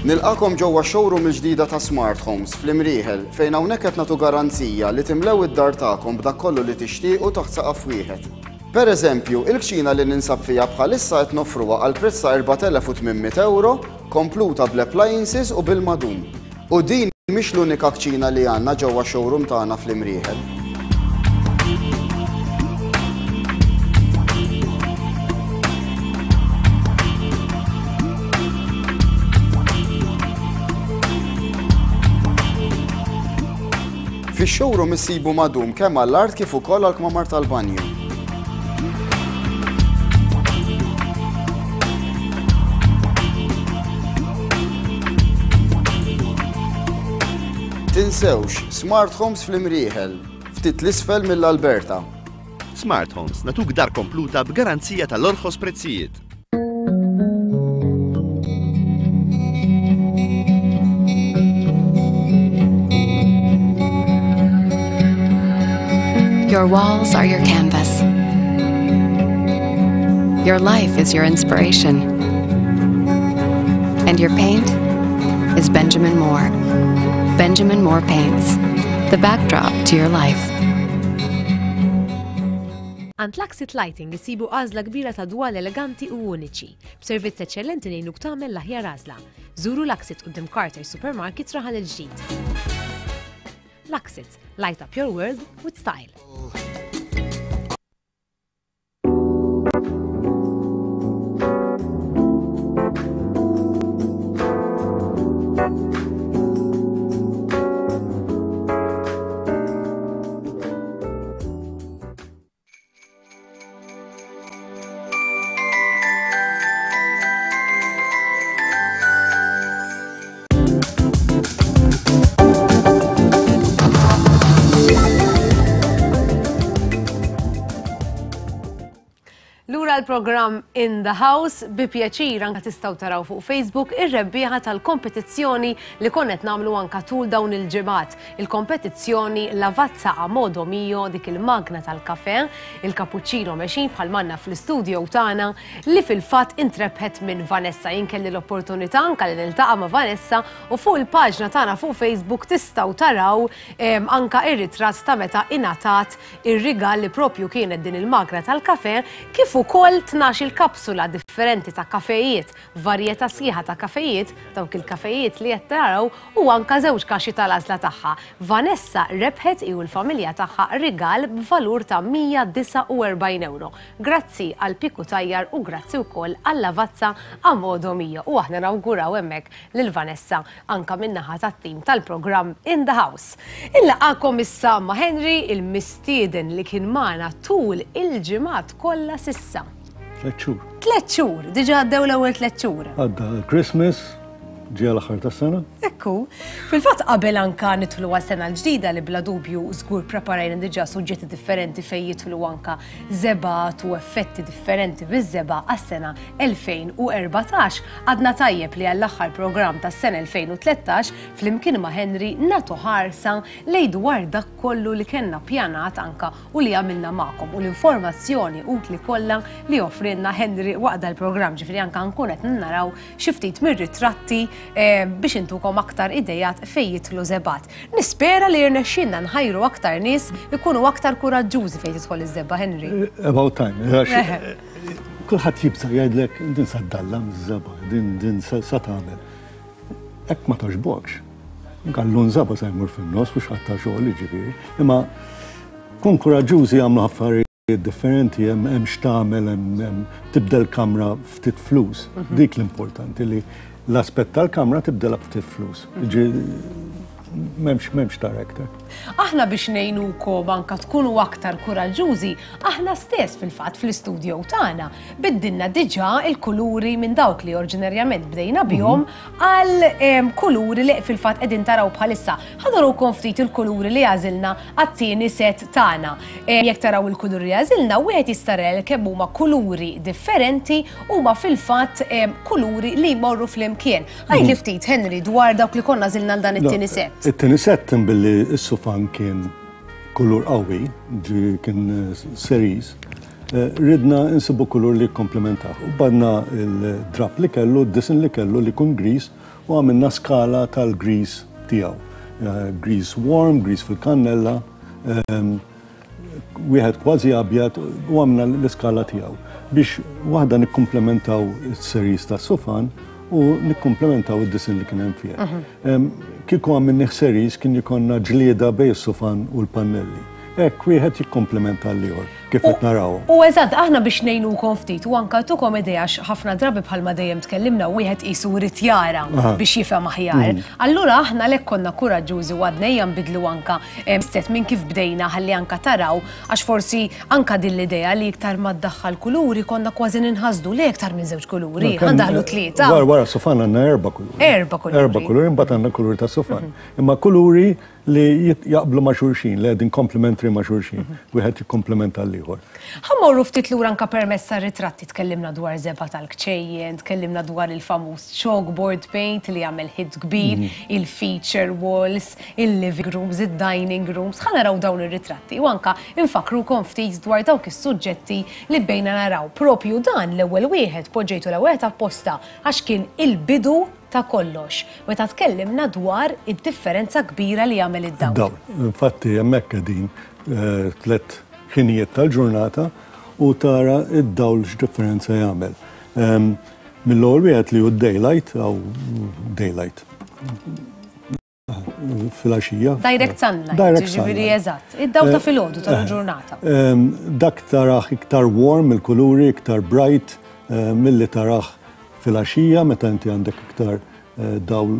N: Nilqagħkom ġewwa x-showroom il-ġdida ta' Smart Homes fl-Imrieħel fejn hawnhekk qed nagħtu garanzija li timlew id-dar tagħkom b'dak kollu li tixtiequ taħt saqaf wieħed. Per eżempju, il-kċina li ninsab fiha bħalissa qed noffruha għal prezz ta' 4,800 ewro, kompluta bl-appliances u bil-madum. U din mhix l-unika kċina li għandna ġewwa x-showroom tagħna fl-Imrieħel. Fix-showroom issibu madum kemm għall-art kif ukoll għall-kmamar tal-banju. Tinsewx, Smart Homes fl-Imrieħel, ftit 'l isfel mill-Alberta.
O: Smart Homes, nagħtuk dar kompluta b'garanzija tal-orħos prezzijiet.
A: Your walls are your canvas. Your life is your inspiration. And your paint is Benjamin Moore. Benjamin Moore Paints, the backdrop to your life.
G: Għand Luxit Lighting issibu għażla kbira ta' dwal eleganti u uniċi. B'servizz eċċellenti ngħinuk tagħmel l-aħjar għażla. Żuru Luxit quddiem Carter Supermarket Raħal il-Ġdid. Luxit, light up your world with style. Lura l-programm In the House bi pjaċir anka tistgħu taraw fuq Facebook ir-rebbieħa tal-kompetizzjoni li konna qed nagħmlu anka tul dawn il-ġimgħat. Il-kompetizzjoni Lavazza a modo mio dik il-magna tal-kafè, il-cappuccino machine bħal m'għandna fl-istudio tagħna li fil-fatt intrebħet minn Vanessa. Jien kelli l-opportunità anka li niltaqa' ma' Vanessa u fuq il-paġna tagħna fuq Facebook tistgħu taraw anka ir-ritratt ta' meta ingħatat ir-rigal li propju kienet din il-magna tal-kafè kif ukoll 12-il kapsula differenti ta' kafejiet varjetà sħiħa ta' kafejiet, dawk il-kafejiet li qed taraw, u anka żewġ kaxxi tal-għażla tagħha. Vanessa rebħet hi u l-familja tagħha rigal b'valur ta' 149 ewro. Grazzi għal Piku Tajjar u grazzi wkoll għal Lavazza a modo mio. U aħna nawguraw hemmhekk lil Vanessa anka min-naħa tat-tim tal-programm In the House. Inlaqgħakom issa ma' Henry, il-mistieden li kien magħna tul il-ġimgħat kollha s'issa.
P: Tlett xhur.
G: Tlett xhur, diġà għaddew l-ewwel tlett xhur.
P: Għadda Christmas, ġie l-aħħar tas-sena.
G: Ekku. Fil-fatt qabel anka nidħlu għas-sena l-ġdida li bla dubju żgur preparajna diġà suġġetti differenti fejn jidħlu anka żebgħat u effetti differenti biż-żebgħa għas-sena 2014, għadna tajjeb li għall-aħħar programm tas-sena 2013 flimkien ma' Henry nagħtu ħarsa lejn dwar dak kollu li kellna ppjanat anka u li għamilna magħkom u l-informazzjoni utli kollha li offrielna Henry waqt dal-programm, ġifieri anke nkun qed naraw xi ftit mir-ritratti eh, biex intukom aktar idejat fejn jidħlu żebgħat. Nispera li jirnexxielna nħajru aktar nies ikunu aktar kuraġġużi fejn tidħol iż-żebgħa Henry.
P: Eh, about time. Eh, kulħadd jibża' jgħidlek din sa ddallam iż-żebgħa, din din sa tagħmel. Hekk ma toġbokx. Gallun żaba sa jmur fin-nofs mhux ħadd ta' xogħol jiġifieri. Imma kun kuraġġużi jagħmlu affarijiet differenti hemm hemm x'tagħmel hemm tibdel kamra ftit flus. Mhm. Dik l-importanti li l-aspett tal-kamra tibdela ftit flus. M'hemmx m'hemmx director.
G: Aħna biex ngħinukom anka tkunu aktar kuraġġużi, aħna stess fil-fatt fl-istudio tagħna biddilna diġà il-kuluri minn dawk li oriġinarjament bdejna bihom mhm. għal kuluri li fil-fatt qegħdin taraw bħalissa. Ħa nurukom ftit il-kuluri li għażilna għat-tieni set tagħna. Jekk taraw il-kuluri li għażilna, wieħed jista' jara kemm huma kuluri differenti huma fil-fatt kuluri li jmorru flimkien. Għidli ftit, Henry, dwar dawk li konna għażilna għal dan it-tieni set.
P: It-tieni set billi s-sufan kien kulur qawwi, ġi kien cerise, ridna nsibu kulur li jikkomplementah. U badna l-drap li kellu, d-disin li kellu li jkun griż. u għamilna skala tal-griż tiegħu. Griż warm, griż fil-kannella, wieħed kważi abjad u għamilna l-iskala tiegħu biex waħda nikkumplementaw is-series tas-sufan u nikkumplementaw id-disinn li kien hemm fih. Mhm. Kieku għamilnih series kien jkollna ġlieda bejn is-sufan u l-pannelli. Hekk wieħed jikkomplementa l-ieħor kif qed naraw.
G: U eżatt, aħna biex ngħinukom ftit u anka tukom idea ħafna drabi bħalma dejjem tkellimna wieħed qisu jrid jara biex jifhem aħjar. Mm. Allura aħna lek konna kuraġġużi u għadna ejja nbidlu anka set minn kif bdejna ħalli anka taraw għax forsi anka din l-idea li iktar ma ddaħħal kuluri konna kważi ninħasdu li iktar minn żewġ kuluri, għandaħlu tlieta.
P: Wara wara sufan għandna erba' kuluri.
G: Erba' kuluri.
P: Erba' kuluri, mbagħad għandna kuluri ta' sufan. Mhm. Imma kuluri li jaqblu ma' xulxin, li qegħdin komplementri ma' xulxin, mhm. wieħed jikkomplementa l-ieħor.
G: Ħa mmorru ftit lura anka permezz tar-ritratti, tkellimna dwar żebgħa tal-kċejjen, tkellimna dwar il-famuż chalkboard paint li għamel hit kbir, mhm. il-feature walls, il-living rooms, id-dining rooms. Ħa naraw dawn ir-ritratti u anka nfakkrukom ftit dwar dawk is-suġġetti li bdejna naraw. Propju dan l-ewwel wieħed poġġejtu l-ewwel wieħed apposta għax kien il-bidu ta' kollox, meta tkellimna dwar id-differenza kbira li jagħmel id-dawl.
P: Id-dawl. Infatti hemmhekk qegħdin tliet ħinijiet tal-ġurnata u tara d-dawl x'differenza jagħmel. Mill-ewwel wieħed li hu d-daylight, aw daylight filgħaxija.
G: Direct sunlight. Direct sunlight. Eżatt. Id-dawl ta' filgħodu tal-ġurnata.
P: Dak tarah iktar warm il-kuluri, iktar bright milli tarah Filgħaxija meta inti għandek iktar dawl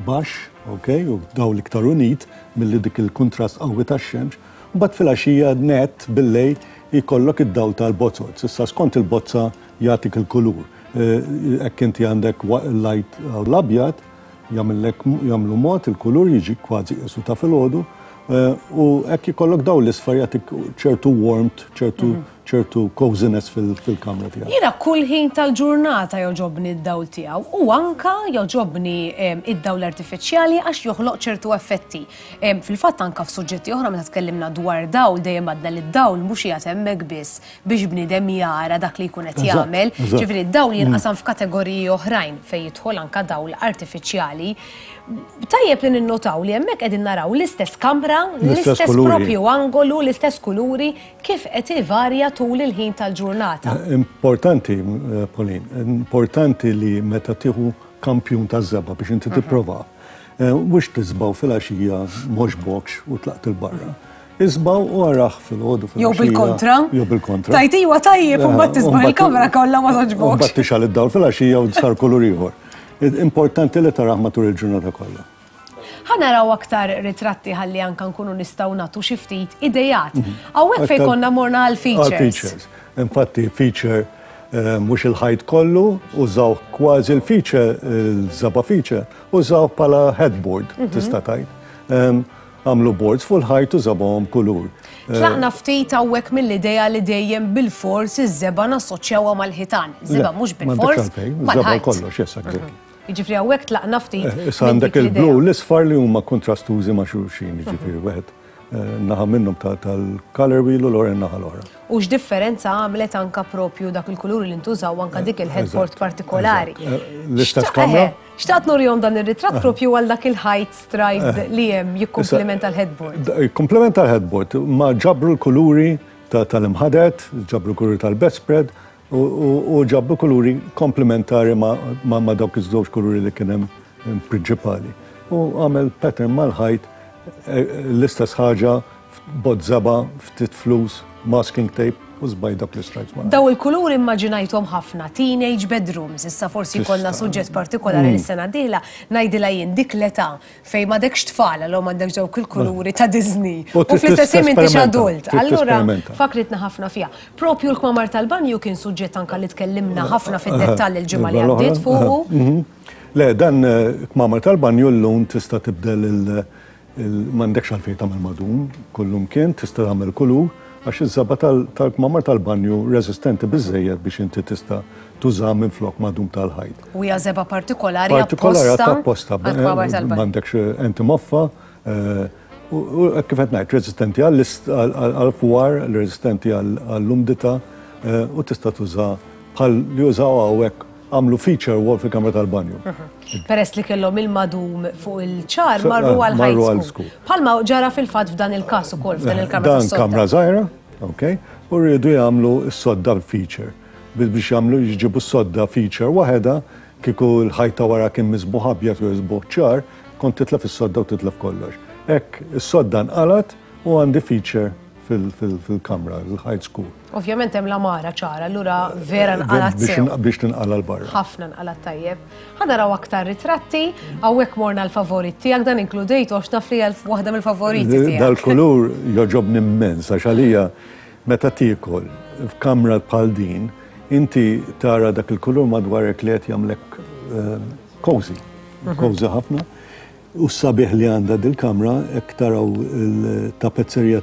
P: baxx, ok, u dawl iktar unit milli dik il-kuntrast qawwi tax-xemx, mbagħad filgħaxija nett billejl jkollok id-dawl tal-bozoz. Issa skont il-bozza jagħtik il-kulur. Hekk inti għandek light l-abjad, jagħmillek jagħmlu mod il-kulur jiġi kważi qisu ta' filgħodu u hekk ikollok dawl l-isfar jagħtik ċertu warmth, ċertu ċertu coziness fil-kamra tiegħek.
G: Jiena kull ħin tal-ġurnata jogħġobni d-dawl tiegħu u anka jogħġobni id-dawl artifiċjali għax joħloq ċertu effetti. Fil-fatt anka f'suġġetti oħra meta tkellimna dwar dawl dejjem għadna li d-dawl mhux qiegħed hemmhekk biss biex bniedem jara dak li jkun qed jagħmel. Ġifieri d-dawl jinqasam f'kategoriji oħrajn fejn jidħol anka dawl artifiċjali. Tajjeb li ninnotaw li hemmhekk qegħdin naraw l-istess kamra, l-istess propju angolu, l-istess kuluri, kif qed ivarja tul il-ħin tal-ġurnata.
P: Importanti, Pauline, importanti li meta tieħu kampjun taż-żebgħa biex inti tipprova, mhux tiżbgħu filgħaxija m'għoġbokx u tlaqt 'il barra. Iżbgħu u arah filgħodu filgħaxija.
G: Jew bil-kontra.
P: Jew bil-kontra.
G: Tajt iwa tajjeb u mbagħad tiżbgħu il-kamra kollha ma togħġbokx.
P: U mbagħad tixgħal id-dawl filgħaxija u sar kulur ieħor. Importanti li tarah matul il-ġurnata kollha.
G: Ħa naraw aktar ritratti ħalli anka nkunu nistgħu nagħtu xi ftit idejat. Mhm. Hawnhekk fejn konna morna għal features.
P: Features. Infatti feature eh, mhux il-ħajt kollu, użaw kważi l-feature, il-żaba feature, użaw bħala headboard, mhm. tista' tgħid. Għamlu boards fuq il-ħajt u żabahom kulur.
G: Eh, Tlaqna ftit hawnhekk mill-idea li dejjem bil-fors iż-żebgħa nassoċjawha mal-ħitan. Żebgħa mhux bil-fors.
P: Żebgħa kollox, yes, exactly. Mhm.
G: Jiġifieri hawnhekk tlaqna ftit.
P: Eh, issa għandek il-blu u l-isfar li huma kontrastużi ma' xulxin, jiġifieri mhm. wieħed eh, naħa minnhom tal-color wheel u l-oħra naħa l-oħra.
G: U x'differenza għamlet anka propju dak il-kulur li ntużaw anka dik il-headboard partikolari.
P: L-istess kamra?
G: Xtaqt nurihom dan ir-ritratt propju għal dak il-ħajt striped li hemm jikkumplimenta l-headboard.
P: Jikkumplimenta l-headboard, ma ġabru l-kuluri tal-imħadet, ġabru l-kuluri tal-bedspread u ġabru kuluri komplementari ma' dawk iż-żewġ kuluri li kien hemm prinċipali. U għamel pattern mal-ħajt l-istess ħaġa Bott żebgħa, ftit flus, masking tape u żbajt dawk l-istripes
G: ma'. Daw il-kuluri immaġinajthom ħafna, teenage bedrooms, issa forsi jkollna suġġett partikolari mm. lis-sena d-dieħla, ngħidilha jien dik l-età fejn m'għadekx tfal għalhom għandek dawk il-kuluri ta' Disney. U fl-istess ħin m'intix adult. Allura fakritna ħafna fiha. Propju l-kmamar tal-banju kien suġġett anka li tkellimna ħafna fid-dettall il-ġimgħa li għaddiet fuqu.
P: Mhm. Le, dan eh, kmamar tal-banju llum tista' tibdel il- M'għandekx għalfejn tagħmel madum kullumkien, tista' tagħmel kulur għax iż-żebgħa tal-kmamar tal-banju reżistenti biżżejjed biex inti tista' tużaha minflok madum tal-ħajt.
G: U hija żebgħa partikolari apposta
P: apposta m'għandekx enti moffa u kif qed ngħid reżistenti għall-fwar, reżistenti għall-umdità u tista' tuża bħal li użaw hawnhekk. Għamlu feature wall fil-kamra tal-banju.
G: Peress li kellhom il-madum fuq il-ċar marru għal high school. Bħalma ġara fil-fatt f'dan il-każ ukoll f'dan il-kamra.
P: Dan kamra żgħira, ok, u rridu jagħmlu s-sodda feature. Biex jagħmlu jġibu s-sodda feature waħedha, kieku l-ħajt ta' wara kien misbuħ abjad u misbuħ ċar, kont titlef is-sodda u titlef kollox. Hekk is-sodda nqalgħet u għandi feature fil-kamra, il-ħajt skur.
G: Ovvjament hemm l-għamara ċara, allura vera nqalgħet sew.
P: Biex tinqala' 'l barra.
G: Ħafna nqalgħet tajjeb. Ħa naraw aktar ritratti, hawnhekk morna l-favorit tiegħek dan inkludejtu għax naf li hija waħda mill-favoriti tiegħek.
P: Dal-kulur jogħġobni immens għax għalija meta tiekol f'kamra bħal din, inti tara dak il-kulur madwarek li qed jagħmlek cozy, cozy ħafna. U s-sabiħ li għandha dil-kamra, jekk taraw il-tapezzerija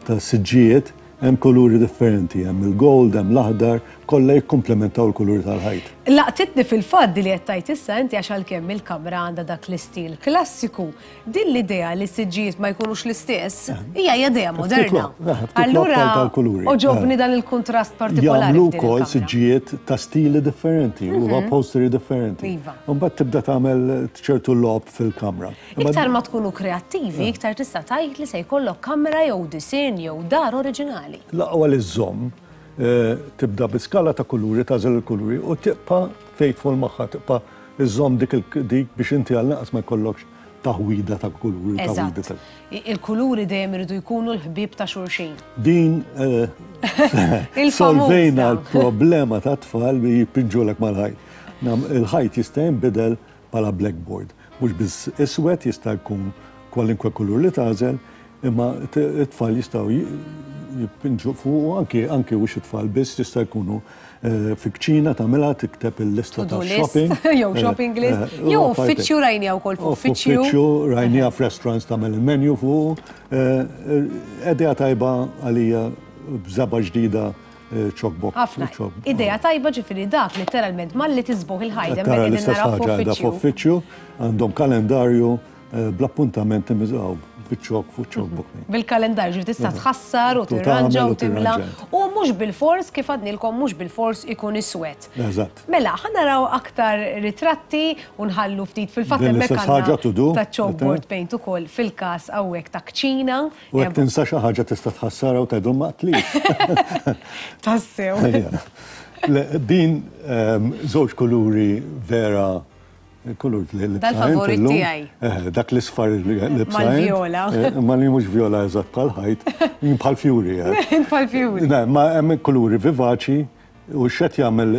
P: tas-siġġijiet, hemm kuluri differenti, hemm il-gold, hemm l-aħdar, kollha jikkumplementaw il-kuluri tal-ħajt.
G: Laqtitni fil-fatt di li qed tgħid issa inti għax għalkemm il-kamra għandha dak l-istil klassiku, din l-idea li s-siġġijiet ma jkunux l-istess hija idea moderna. Allura għoġobni dan il-kuntrast partikolari.
P: Jagħmlu wkoll siġġijiet ta' stili differenti u upholstery differenti.
G: Iva.
P: U mbagħad tibda tagħmel ċertu logħob fil-kamra.
G: Iktar ma tkunu kreattivi, iktar tista' tgħid li se jkollok kamra jew disinn jew dar oriġinali.
P: L-aqwa li żżomm, tibda bi skala ta' kuluri, tagħżel il-kuluri u tibqa' faithful magħha, tibqa' żżomm dik dik biex inti għall-inqas ma jkollokx taħwida ta' kuluri.
G: Eżatt. Il-kuluri dejjem iridu jkunu l-ħbieb ta' xulxin.
P: Din solvejna l-problema ta' tfal li jpinġulek mal-ħajt. Il-ħajt jista' jinbidel bħala blackboard. Mhux biss iswed jista' jkun kwalinkwe kulur li tagħżel, imma t-tfal jistgħu jipinġu fuq anki anki mhux it-tfal biss jista' jkunu eh, fi kċina tagħmilha tikteb il-lista ta' shopping.
G: Jew shopping list, eh, jew uffiċċju rajnija wkoll
P: f'uffiċċju. Uffiċċju rajnija f'restaurants tagħmel il-menu fuq. Eh, idea tajba għalija b'żaba ġdida Chalkbox.
G: Ħafna. Idea tajba ġifieri dak letteralment malli tiżbuħ il-ħajt
P: hemmhekk qegħdin naraw f'uffiċċju. Għandhom kalendarju eh, bl-appuntamenti miżgħu biċ-ċok fuq chalkbox. Mhm.
G: Bil-kalendarju ġifieri tista' mhm. tħassar u tirranġa u timla u mhux bil-fors kif għadnilkom mhux bil-fors ikun iswed.
P: Eżatt.
G: Mela, ħa naraw aktar ritratti u nħallu ftit fil-fatt hemmhekk għandna ta' chalkboard paint ukoll fil-każ hawnhekk ta' kċina.
P: U jekk tinsa xi ħaġa tista' tħassarha u tgħidhom ma qtlix.
G: Tassew.
P: Din ehm, żewġ kuluri vera kulur li
G: Dal-favorit tiegħi.
P: Eh, dak l-isfar li
G: Mal-viola.
P: Eh, ma li mhux viola eżatt bħal ħajt, jien bħal fjuri.
G: Eh. Bħal fjuri.
P: Ma hemm kuluri vivaċi u x'qed jagħmel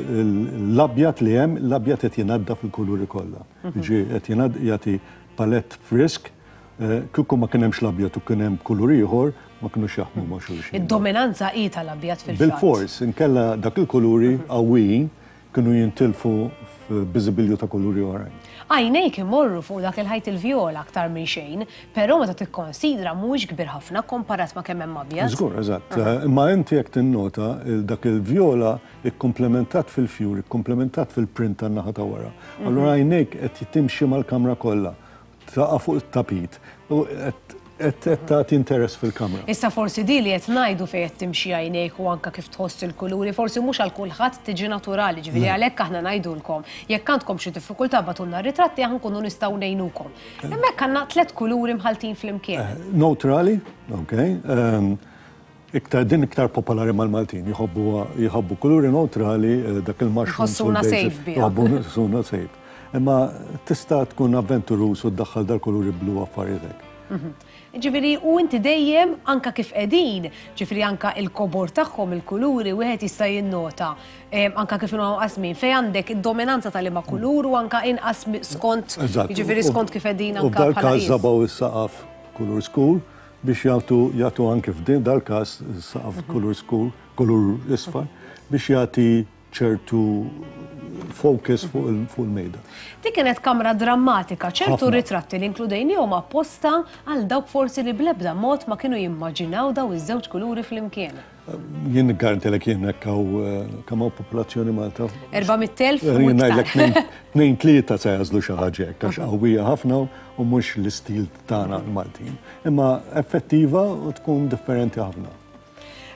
P: l-abjad li hemm, l-abjad qed jingħadda fil-kuluri kollha. Mhm. Ġi qed jingħadda jagħti palett frisk Kieku ma kien hemmx l-abjad u kien hemm kulur ieħor, ma kinux jaħdmu ma' xulxin.
G: Id-dominanza hi tal-abjad fil-fatt.
P: Bilfors, inkella dak il-kuluri qawwijin kienu jintilfu f'biżibilju ta' kuluri oħrajn.
G: Għajnejk imorru fuq dak il-ħajt il-vjola aktar minn xejn, però meta tikkonsidra mhuwiex kbir ħafna kkomparat ma' kemm hemm abjad.
P: Żgur, eżatt. Imma inti jekk tinnota, dak il-vjola ikkumplementat fil-fjur, ikkumplementat fil-print tan-naħa ta' wara. Allura għajnejk qed timxi mal-kamra kollha. Taqa' fuq it-tapit u qed tagħti interess fil-kamra.
G: Issa forsi di li qed ngħidu fejn qed timxi għajnejk u anke kif tħoss il-kuluri forsi mhux għal kulħadd tiġi naturali, ġifieri għalhekk aħna ngħidulkom jekk għandkom xi diffikultà bagħtulna r-ritratti aħna nkunu nistgħu ngħinukom. Hemmhekk għandna tlett kuluri mħalltin flimkien.
P: Newtrali, ok. Iktar din iktar popolari mal-Maltin, jħobbu jħobbu kuluri neutrali, eh, dak il-mushroom.
G: Jħossuna safe biha.
P: Jħossuna safe. Imma tista' tkun avventuruż u ddaħħal dal-kuluri blu affarijiet
G: mhm. Ġifieri u inti dejjem anka kif qegħdin, ġifieri anka il-kobor tagħhom il-kuluri wieħed jista' jinnota eh, anka kif inhom qasmin fejn għandek id-dominanza tal-liema kulur u anka inqas skont ġifieri skont kif qegħdin
P: anka. U dal-każ żabaw is-saqaf kulur skur biex jagħtu jagħtu anke f'din dal-każ saqaf kulur skur, kulur isfar, biex jagħti ċertu focus fuq il-mejda.
G: Dik kienet kamra drammatika, ċertu ritratti li inkludejnihom apposta għal dawk forsi li bl-ebda mod ma kienu jimmaġinaw daw iż-żewġ kuluri flimkien.
P: Jien niggarantilek jien hekk hawn kemm hawn popolazzjoni Malta.
G: 400,000 u iktar.
P: Ngħidlek tnejn tlieta se jagħżlu xi ħaġa hekk għax qawwija ħafna u mhux l-istil tagħna l-Maltin. Imma effettiva u tkun differenti ħafna.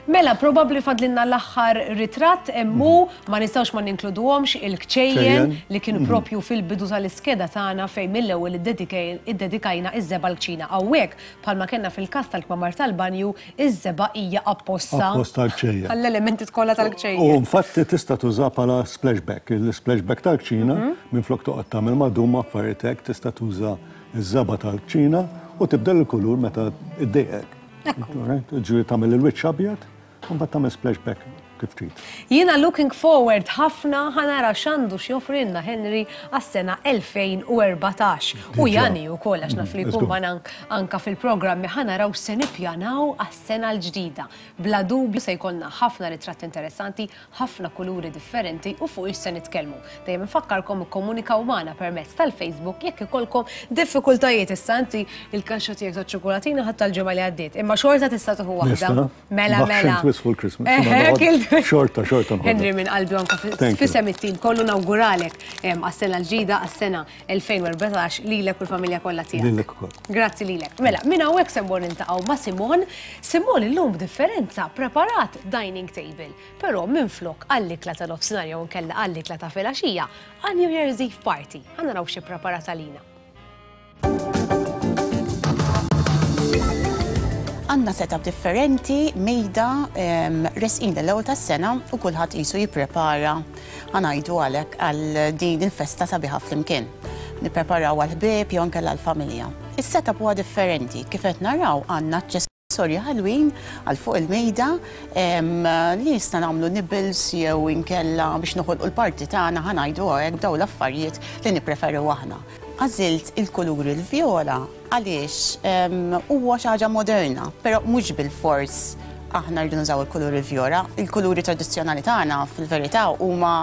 G: Mela, probabbli fadlilna l-aħħar ritratt hemm hu, ma nistgħux ma ninkluduhomx il-kċejjen li kienu propju fil-bidu tal-iskeda tagħna fejn mill-ewwel iddedikajna iż-żebgħa l-kċina. Hawnhekk, bħalma kellna fil-każ tal-kmamar tal-banju, iż-żebgħa hija apposta.
P: Apposta għall-kċejjen.
G: Għall-elementi kollha tal-kċejjen.
P: U infatti tista' tuża bħala splashback. Il-splashback tal-kċina, minflok toqgħod tagħmel madum affarijiet hekk, tista' tuża ż-żebgħa tal-kċina u tibdel il-kulur meta ddejqek. Ekku. Ġifieri tagħmel il-wiċċ abjad, u mbagħad tagħmel splashback kif trid.
G: Jiena looking forward ħafna ħa nara x'għandu x'joffrilna Henry għas-sena 2014. U Jani wkoll għax naf li jkun magħna anka fil-programmi ħa naraw x'se nippjanaw għas-sena l-ġdida. Bla dubju se jkollna ħafna ritratti interessanti, ħafna kuluri differenti u fuq ix se nitkellmu. Dejjem infakkarkom ikkomunikaw magħna permezz tal-Facebook jekk ikollkom diffikultajiet. Issa inti il-kaxxa tiegħek taċ-ċokkolatina ħadtha l-ġimgħa li għaddiet, imma xorta tista' tieħu waħda. Mela mela.
P: Xorta, xorta.
G: Henry minn qalbi anka f'isem it-tim kollu nawguralek għas-sena l-ġdida għas-sena 2014 lilek u l-familja kollha tiegħek.
P: Lilek ukoll.
G: Grazzi lilek. Mela, minn hawnhekk se mmur niltaqgħu ma' Simon. Simon illum b'differenza preparat dining table. Però minflok għall-ikla ta' nofsinhar jew inkella għall-ikla ta' filgħaxija, għal New Year's Eve party. Ħa naraw xi ppreparat għalina.
Q: Għandna setup differenti, mejda, resqin l-ewwel tas-sena u kulħadd qisu jipprepara ħa ngħidu għalhekk għal din il-festa sabiħa flimkien. Nippreparaw għall-ħbieb jew inkella għall-familja. Is-setup huwa differenti, kif qed naraw għandna aċċessorji ħelwin għal fuq il-mejda li nista' nagħmlu nibbles jew inkella biex noħolqu l-parti tagħna ħa ngħidu hekk b'dawn l-affarijiet li nippreferu aħna. Għażilt il-kulur il-vjola għaliex huwa xi ħaġa moderna, però mhux bilfors aħna rridu nużaw il-kulur il-vjola. Il-kuluri tradizzjonali tagħna fil-verità huma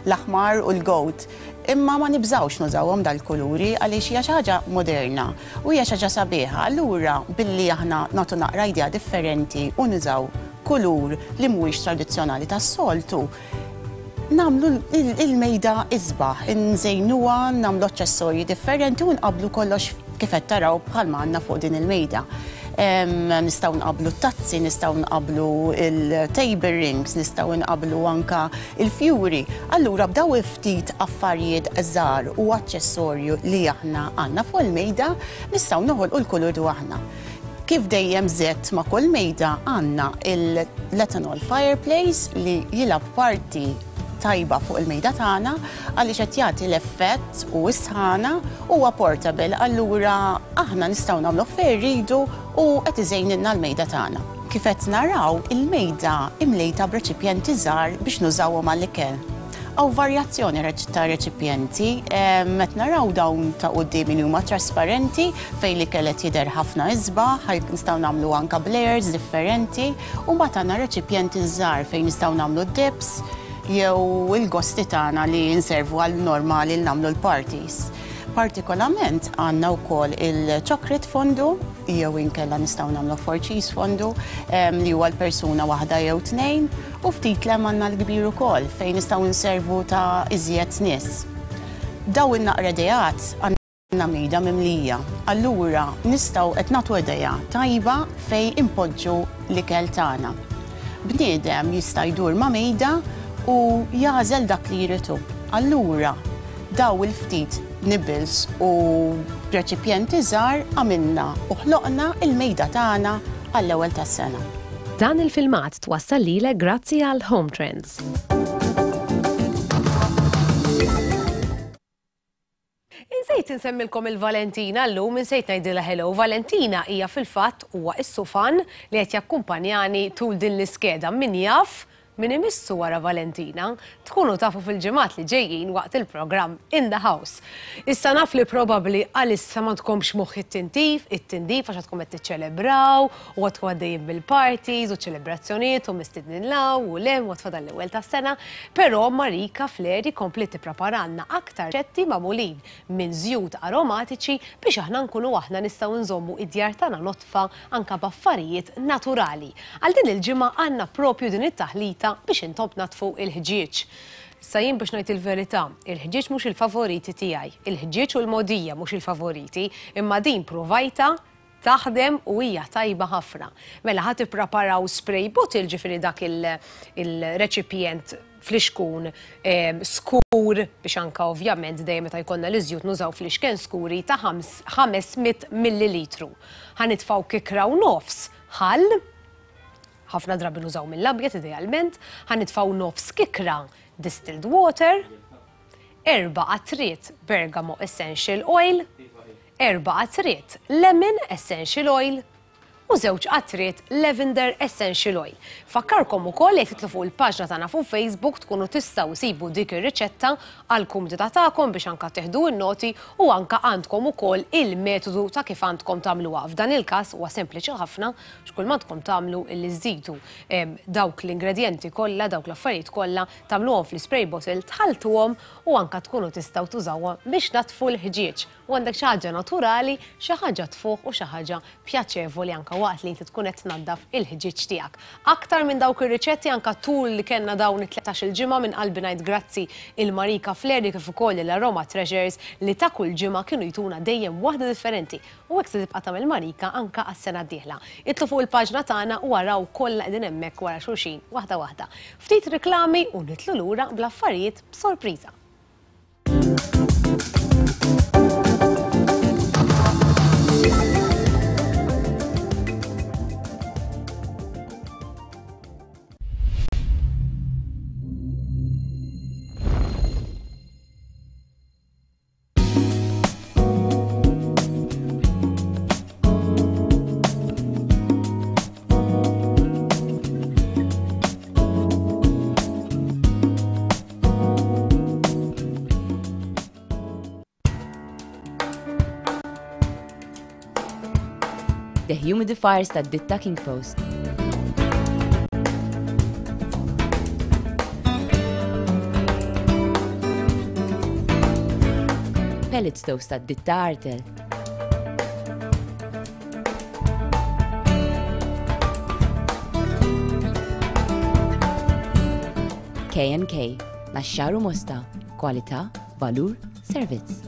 Q: l-aħmar u l-gold. Imma ma nibżgħux nużawhom dal-kuluri għaliex hija xi ħaġa moderna u hija xi ħaġa sabiħa. Allura billi aħna nagħtu naqra idea differenti u nużaw kulur li mhuwiex tradizzjonali tas-soltu, nagħmlu l-mejda isbaħ, inżejnuha, nagħmlu aċċessorji differenti u nqabblu kollox kif qed taraw bħalma għandna fuq din il-mejda. Nistgħu nqabblu t-tazzi, nistgħu nqabblu l-table rings, nistgħu nqabblu anka l-fjuri. Allura b'daw il-ftit affarijiet żgħar u aċċessorju li aħna għandna fuq il-mejda nistgħu noħolqu l-kulur aħna. Kif dejjem żedt ma' kull mejda għandna l-ethanol fireplace li jilgħab parti tajba fuq il-mejda tagħna għaliex qed jagħti l-effett u s-sħana huwa portable allura aħna nistgħu nagħmluh fejn irridu u qed iżejnilna l-mejda tagħna. Kif qed naraw, il-mejda imlejta b'reċipjenti żgħar biex nużawhom għall-ikel. Hawn varjazzjoni ta' reċipjenti, qed naraw dawn ta' quddiemi li huma trasparenti fejn l-ikel qed jidher ħafna isbaħ, nistgħu nagħmlu anke b'layers differenti u mbagħad għandna reċipjenti żgħar fejn nistgħu nagħmlu d-dips jew il-gosti tagħna li nservu għal normali li nagħmlu l-parties. Partikolament għandna wkoll il-chocolate fondue jew inkella nistgħu nagħmlu four cheese fondue li huwa l-persuna waħda jew tnejn u ftit lem għandna l-kbir ukoll fejn nistgħu nservu ta' iżjed nies. Daw in-naqra ideat għandna mejda mimlija. Allura nistgħu qed nagħtu idea tajba fejn inpoġġu l-ikel tagħna. Bniedem jista' jdur ma' mejda u jagħżel dak li jrid hu. Allura daw il-ftit nibbles u reċipjenti żgħar għamilna u ħloqna il-mejda tagħna għall-ewwel tas-sena.
F: Dan il-filmat twassal lilek grazzi għal Home Trends.
G: Insejt insemmilkom il-Valentina llum, insejt ngħidilha hello. Valentina hija fil-fatt huwa s-sufan li qed jakkumpanjani tul din l-iskeda. Min jaf min imissu wara Valentina? Tkunu tafu fil-ġimgħat li ġejjin waqt il-programm In the House. Issa naf li probabbli għalissa m'għandkomx moħħ it-tintif, it-tindif għax għadkom qed tiċċelebraw u għadkom għaddejjin bil-parties u ċelebrazzjonijiet u mistednin 'l hawn u 'l hemm u għad fadal l-ewwel tas-sena, però Marika Fleri kompliet tippreparalna aktar riċetti magħmulin minn żjut aromatiċi biex aħna nkunu aħna nistgħu nżommu id-djar tagħna nodfa anke b'affarijiet naturali. Għal din il-ġimgħa għandna propju din it-taħlita biex intom tnaddfu l-ħġieġ. Issa jien biex ngħid il-verità, il-ħġieġ mhux il-favoriti tiegħi. Il-ħġieġ u l-mogħdija mhux il-favoriti, imma din pruvajtha Taħdem u hija tajba ħafna. Mela ħa tippreparaw spray bottle ġifieri dak il-reċipjent flixkun skur biex anka ovvjament dejjem meta jkollna l-iżjut nużaw flixken skuri ta' 500 millilitru. Ħa nitfgħu kikra u nofs ħall, ħafna drabi nużaw mill-abjad idealment, ħa nitfgħu nofs kikra distilled water, erba' qatriet bergamot essential oil, erba' qatriet lemon essential oil u żewġ qatriet lavender essential oil. Nfakkarkom ukoll li jekk titlu fuq il-paġna tagħna fuq Facebook tkunu tistgħu isibu dik ir-riċetta għall-kumdità tagħkom biex anka tieħdu n-noti u anka għandkom ukoll il-metodu ta' kif għandkom tagħmluha. F'dan il-każ huwa sempliċi ħafna x'kull m'għandkom tagħmlu illi żżidu dawk l-ingredjenti kollha, dawk l-affarijiet kollha, tagħmluhom fl-ispray bottle, tħalltuhom u anka tkunu tistgħu tużawha biex tnaddfu l-ħġieġ. U għandek xi ħaġa naturali, xi ħaġa tfuħ u xi ħaġa pjaċevoli anke waqt li inti tkun qed tnaddaf il-ħġieġ tiegħek. Aktar minn dawk ir-riċetti anke tul li kellna dawn it-tlettax-il ġimgħa minn qalbi ngħid grazzi il Marika Fleri kif ukoll lil Aroma Treasures li ta' kull ġimgħa kienu jtuna dejjem waħda differenti u hekk se tibqa' tagħmel Marika anke għas-sena d-dieħla. Idħlu fuq il-paġna tagħna u araw kollha qegħdin hemmhekk wara xulxin waħda waħda. Ftit riklami u nidħlu lura bl-affarijiet b'sorpriża.
R: Dehumidifiers tad-ditta King Post. Pellet stoves tad-ditta Artel. K&K, Naxxar u Mosta, kwalità, valur, servizz.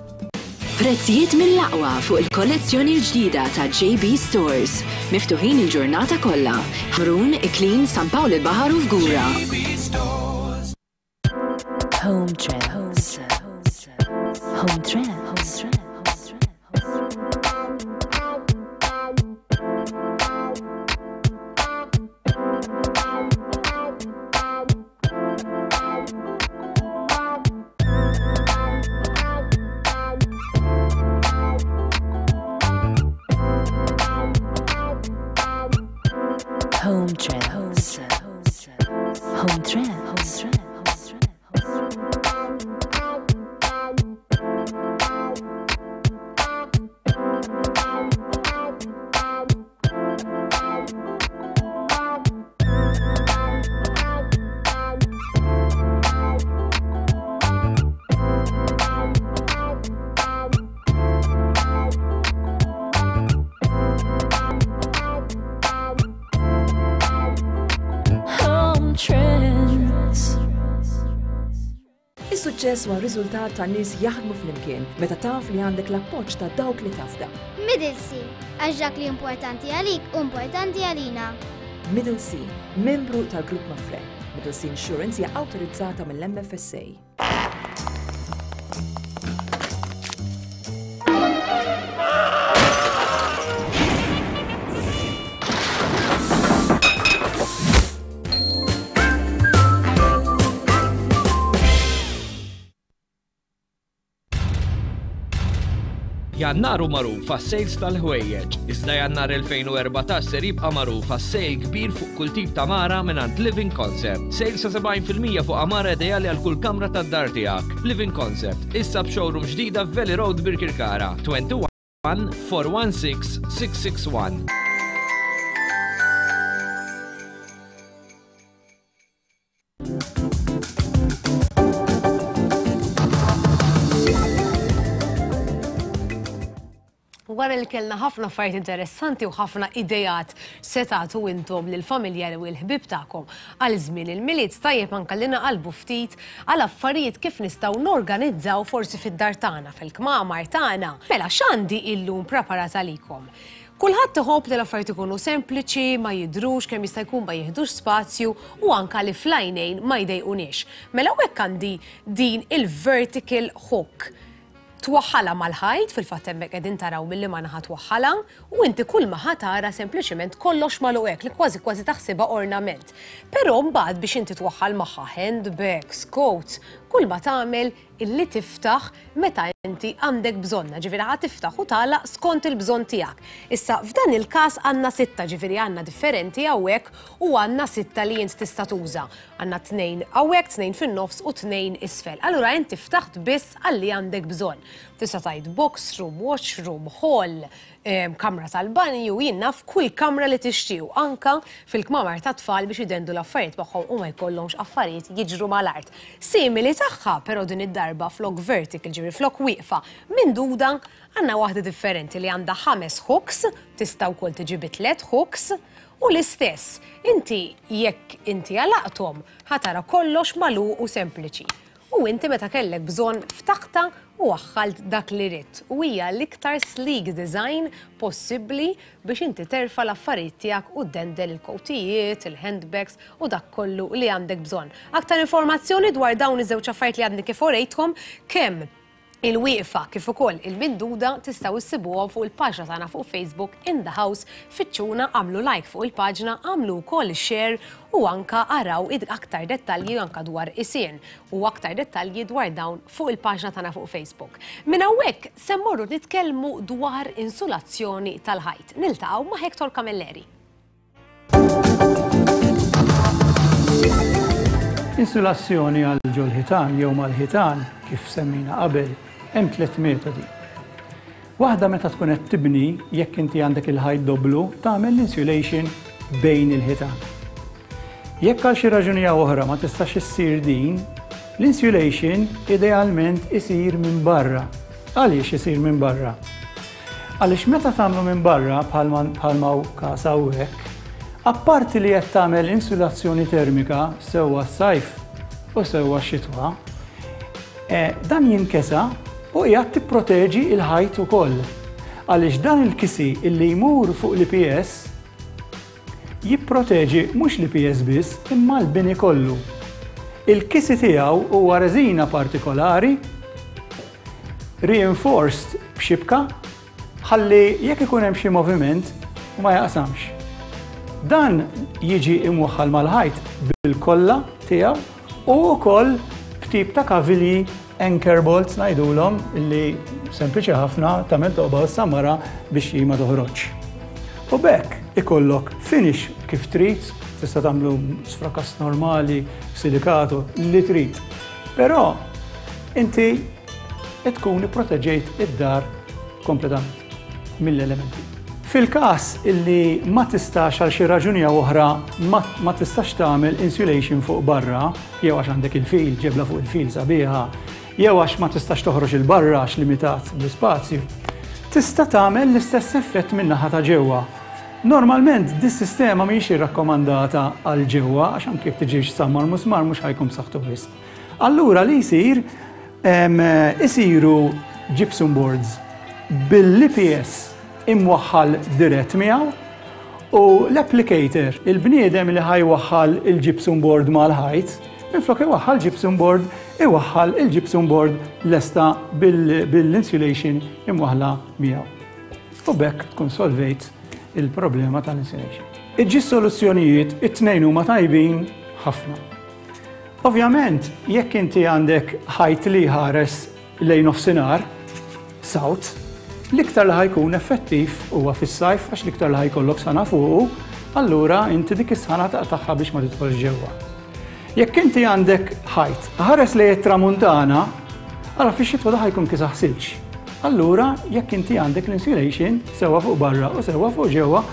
S: Prezzijiet mill-aqwa fuq il-kollezzjoni l-ġdida ta' JB Stores. Miftuħin il-ġurnata kollha. Ħamrun, Iklin, San Pawl il-Baħar u Fgura.
B: Home Trends. Home Trends. Home Trends. Home Trends. Home Trends.
K: Is-suċċess huwa riżultat ta' nies jaħdmu flimkien meta taf li għandek l-appoġġ ta' dawk li tafda.
L: Middle Sea, għax dak li importanti għalik hu importanti għalina.
K: Middle Sea, membru tal-Grupp Mapfre. Middle Sea Insurance hija awtorizzata mill-MFSA.
M: Jannar hu magħruf għas-sales tal-ħwejjeġ, iżda Jannar 2014 ser jibqa' magħruf għas-sale kbir fuq kull tip ta' mara mingħand Living Concept. Sale sa 70% fuq għamara ideali għal kull kamra tad-dar tiegħek. Living Concept, issa b'showroom ġdida f'Valley Road Birkirkara. 21 416 661.
G: Wara li kellna ħafna affarijiet interessanti u ħafna idejat se tagħtu intom lill-familjari u l-ħbieb tagħkom għal żmien il-Milied, tajjeb anke li naqalbu ftit għal affarijiet kif nistgħu norganizzaw forsi fid-dar tagħna, fil-kmamar tagħna. Mela x'għandi illum preparat għalikom? Kulħadd iħobb li l-affarijiet ikunu sempliċi, ma jidhrux, kemm jista' jkun ma jiħdux spazju u anka li fl-għajnejn ma jdejquniex. Mela hawnhekk għandi din il-vertical hook. Twaħħalha mal-ħajt, fil-fatt hemmhekk qegħdin taraw minn liema naħa twaħħalha, u inti kull ma ħa tara sempliċiment kollox magħluq hekk li kważi kważi taħsibha ornament. Però mbagħad biex inti twaħħal magħha handbags, coats, kull ma tagħmel illi tiftaħ meta inti għandek bżonnha, ġifieri ħa tiftaħ u tagħlaq skont il-bżonn tiegħek. Issa f'dan il-każ għandna sitta, ġifieri għandna differenti hawnhekk u għandna sitta li int tista' tuża. Għandna tnejn hawnhekk, tnejn fin-nofs u tnejn isfel. Allura inti ftaħt biss għal li għandek bżonn. Tista' tgħid box room, washroom, hall, kamra tal-banju, jien naf kull kamra li tixtiequ, anka fil-kmamar tat-tfal biex idendu l-affarijiet magħhom u ma jkollhomx affarijiet jiġru mal-art. Simili tagħha, però din id-darba flok vertical, ġifieri flok wieqfa, minduda, għandna waħda differenti li għandha ħames hooks, tista' wkoll tiġi bi tliet hooks, u l-istess, inti jekk inti għalaqthom, ħa tara kollox magħluq u sempliċi. U inti meta kellek bżonn ftaħtha u waħħalt dak li ridt. U hija l-iktar sleek design possibbli biex inti terfa' l-affarijiet tiegħek u ddendel il-kowtijiet, il-handbags u dak kollu li għandek bżonn. Aktar informazzjoni dwar dawn iż-żewġ affarijiet li għadni kif urejtkom, kemm il-wieqfa kif ukoll il-minduda tistgħu issibuhom fuq il-paġna tagħna fuq Facebook In The House fittxuna agħmlu like fuq il-paġna agħmlu wkoll share u anka araw aktar dettalji anka dwar isien u aktar dettalji dwar dawn fuq il-paġna tagħna fuq Facebook. Minn hawnhekk se mmorru nitkellmu dwar insulazzjoni tal-ħajt. Niltaqgħu ma' Hector Camilleri.
T: Insulazzjoni għal ġol-ħitan jew mal-ħitan, kif semmejna qabel, hemm tliet metodi. Waħda meta tkun qed tibni, jekk inti għandek il-ħajt doblu, tagħmel l-insulation bejn il-ħitan. Jekk għal xi raġuni jew oħra ma tistax issir din, l-insulation idealment isir minn barra. Għaliex isir minn barra? Għaliex meta tagħmlu minn barra bħalma hu każ hawnhekk, apparti li qed tagħmel insulazzjoni termika sewwa s-sajf u sewwa x-xitwa, eh, dan jinkesa u qiegħed tipproteġi l-ħajt ukoll. Għaliex dan il-kisi illi jmur fuq l-IPS jipproteġi mhux l-IPS biss imma l-bini kollu. Il-kisi tiegħu huwa reżina partikolari reinforced b'xibka ħalli jekk ikun hemm xi moviment ma jaqsamx. Dan jiġi imwaħħal mal-ħajt bil-kolla tiegħu u wkoll b'tip ta' kavilji anchor bolts ngħidulhom li sempliċi ħafna tagħmel toqba u ssammara biex hi ma toħroġx. U b'hekk ikollok finish kif trid, tista' tagħmlu sfrakas normali, silikato, li trid. Però inti tkun ipproteġejt id-dar kompletament mill-elementi. Fil-każ illi ma tistax għal xi raġuni jew oħra ma, ma tistax tagħmel insulation fuq barra, jew għax għandek il-fil, ġebla fuq il-fil sabiħa, jew għax ma tistax toħroġ il-barra għax limitat bl-ispazju, tista' tagħmel l-istess effett min-naħa ta' ġewwa. Normalment dis-sistema mhijiex irrakkomandata għal ġewwa għax anke jekk tiġix sammar musmar mhux ħa jkun b'saħħtu wisq. Allura li jsir isiru gypsum boards bil-IPS imwaħħal dirett miegħu u l-applicator, il-bniedem li ħa jwaħħal il-gypsum board mal-ħajt, minflok iwaħħal gypsum board, iwaħħal il-gypsum board lesta bil-insulation imwaħħla miegħu. U b'hekk tkun solvejt il-problema tal-insulation. Iġġi soluzzjonijiet it-tnejn huma tajbin ħafna. Ovvjament, jekk inti għandek ħajt li jħares lejn nofsinhar, south, l-iktar li ħajkun effettiv huwa fis-sajf għax l-iktar li ħajkollok sana fuqu, allura inti dik is-sħana taqtagħha biex ma tidħolx ġewwa. Jekk inti għandek ħajt ħares lejn it-tramuntana, ara fix-xitwa da ħajkun kisaħ silġ. Allura jekk inti għandek l-insulation sewwa fuq barra u sewwa fuq ġewwa,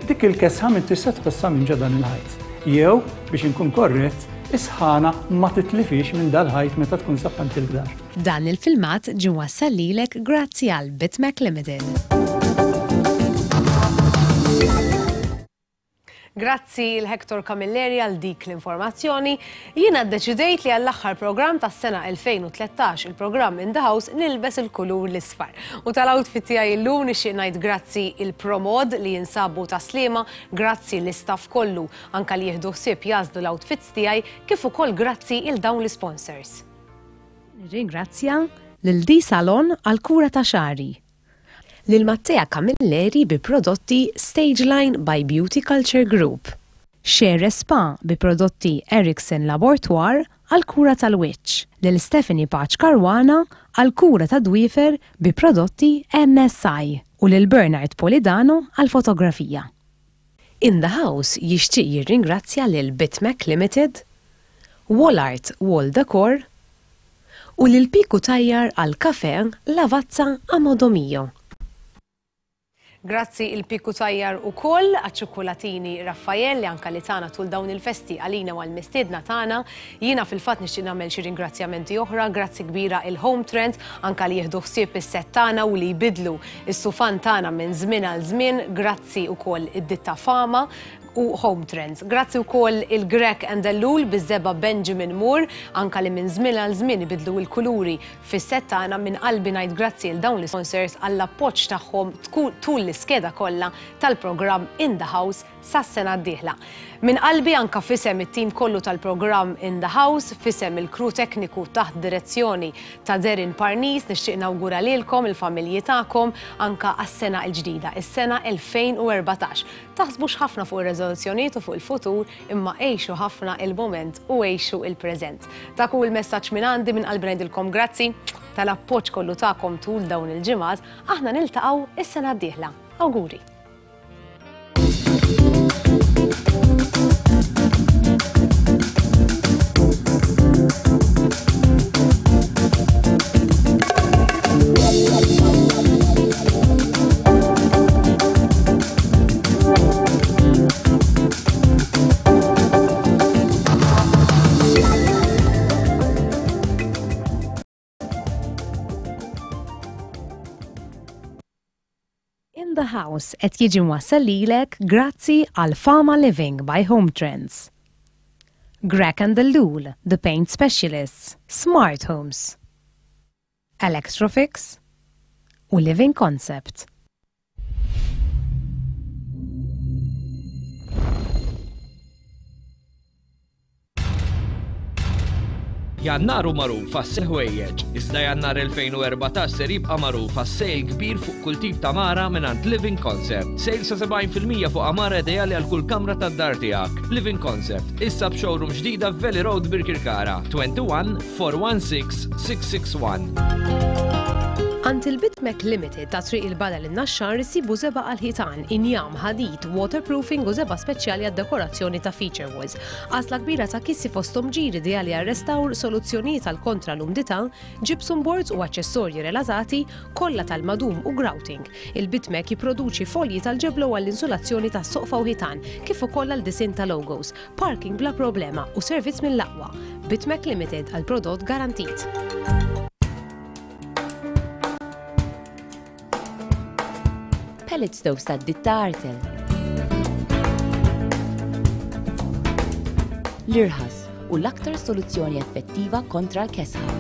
T: dik il-kesħa m'intix se tħossha minn ġo dan il-ħajt. Jew, biex inkun korrett, is-sħana ma titlifhiex minn dal-ħajt meta tkun saħħant il-dar.
F: Dan il-filmat ġie mwassal lilek grazzi għal Bitmac Limited.
G: Grazzi 'l Hector Camilleri għal dik l-informazzjoni. Jiena ddeċidejt li għall-aħħar programm tas-sena 2013, il-programm In the House, nilbes il-kulur l-isfar. U tal-outfit tiegħi llum nixtieq ngħid grazzi il-Promod li jinsabu Tas-Sliema, grazzi l-istaff kollu anka li jieħdu ħsieb jagħżlu l-outfits tiegħi, kif ukoll grazzi 'il dawn l-isponsors. Nirringrazzja lil D-Salon għall-kura ta' xagħri. Lil Mattea Camilleri bi prodotti Stageline by Beauty Culture Group. Shere Spa bi prodotti Erickson Labortoire għall-kura tal-wiċċ. Lil Stephanie Pace Caruana għall-kura tad-dwiefer bi prodotti MSI u lil Bernard Polidano għall-fotografija. In the House jixtieq jirringrazzja lil Bitmac Limited, Wallart Wall Decor u lil Piku Tajjar għal kafè Lavazza a Modo Mio. Grazzi il Piku Tajjar ukoll għaċ-ċukkulatini Raffael li anka li tana tul dawn il-festi għalina u għall-mistiedna tagħna. Jiena fil-fatt nixtieq nagħmel xi ringrazzjamenti oħra, grazzi kbira il Home Trends anka li jieħdu ħsieb is-sett tagħna u li jbiddlu s-sufan tagħna minn żmien għal żmien, grazzi wkoll id-ditta Fama u Home Trends. Grazzi wkoll il-Grech and Ellul biż-żebgħa Benjamin Moore anka li minn żmien għal żmien ibiddlu l-kuluri fis-sett tagħna. Minn qalbi ngħid grazzi 'l dawn l-isponsors għall-appoġġ tagħhom tul l-iskeda kollha tal-programm In The House sas-sena d-dieħla. Minn qalbi anka f'isem it-tim kollu tal-programm In The House, f'isem il-crew tekniku taħt direzzjoni ta' Darren Parnis nixtieq nawgura lilkom, il-familji tagħkom anka għas-sena l-ġdida, is-sena 2014. Taħsbux ħafna fuq ir-reżoluzzjonijiet u fuq il-futur imma għixu ħafna il-mument u għixu il-preżent. Dak hu l-messaġġ minn għandi, minn qalbi ngħidilkom grazzi tal-appoġġ kollu tagħkom tul dawn il-ġimgħat. Aħna niltaqgħu is-sena d-dieħla. Awguri! In the House qed jiġi mwassal lilek grazzi għal Fama Living by Home Trends. Grech and Ellul, the paint specialists, Smart Homes. Electrofix u Living Concept.
M: Jannar hu magħruf għas-ħwejjeġ, iżda Jannar 2014 ser jibqa' magħruf għas-sale kbir fuq kull tip ta' mara mingħand Living Concept. Sale sa 70% fuq għamara ideali għal kull kamra tad-dar tiegħek. Living Concept, issa b'showroom ġdida f'Valley Road Birkirkara, 21 416 661.
G: Għand il-Bitmec Limited ta' Triq il-Badal in-Naxxar issibu żebgħa għall-ħitan, injam, ħadid, waterproofing u żebgħa speċjali għad-dekorazzjoni ta' feature walls. Għażla kbira ta' kissi fosthom ġir ideali għar-restawr, soluzzjonijiet għal kontra l-umdità, gypsum boards u aċċessorji relatati, kolla tal-madum u grouting. Il-Bitmec jipproduċi folji tal-ġeblo għall-insulazzjoni ta' soqfa u ħitan, kif ukoll għal disinn ta' logos. Parking bla problema u servizz mill-aqwa. Bitmec Limited għal prodott garantit.
R: Pellet stoves ta' ditta Artel. L-irħas u l-aktar soluzzjoni effettiva kontra l-kesħa.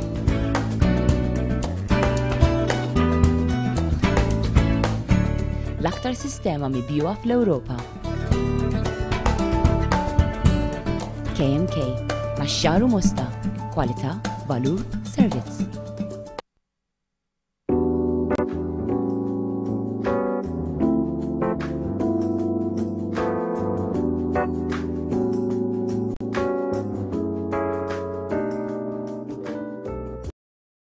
R: L-aktar sistema mibjuha fl-Ewropa. K&K, Naxxar u Mosta, kwalità, valur, servizz.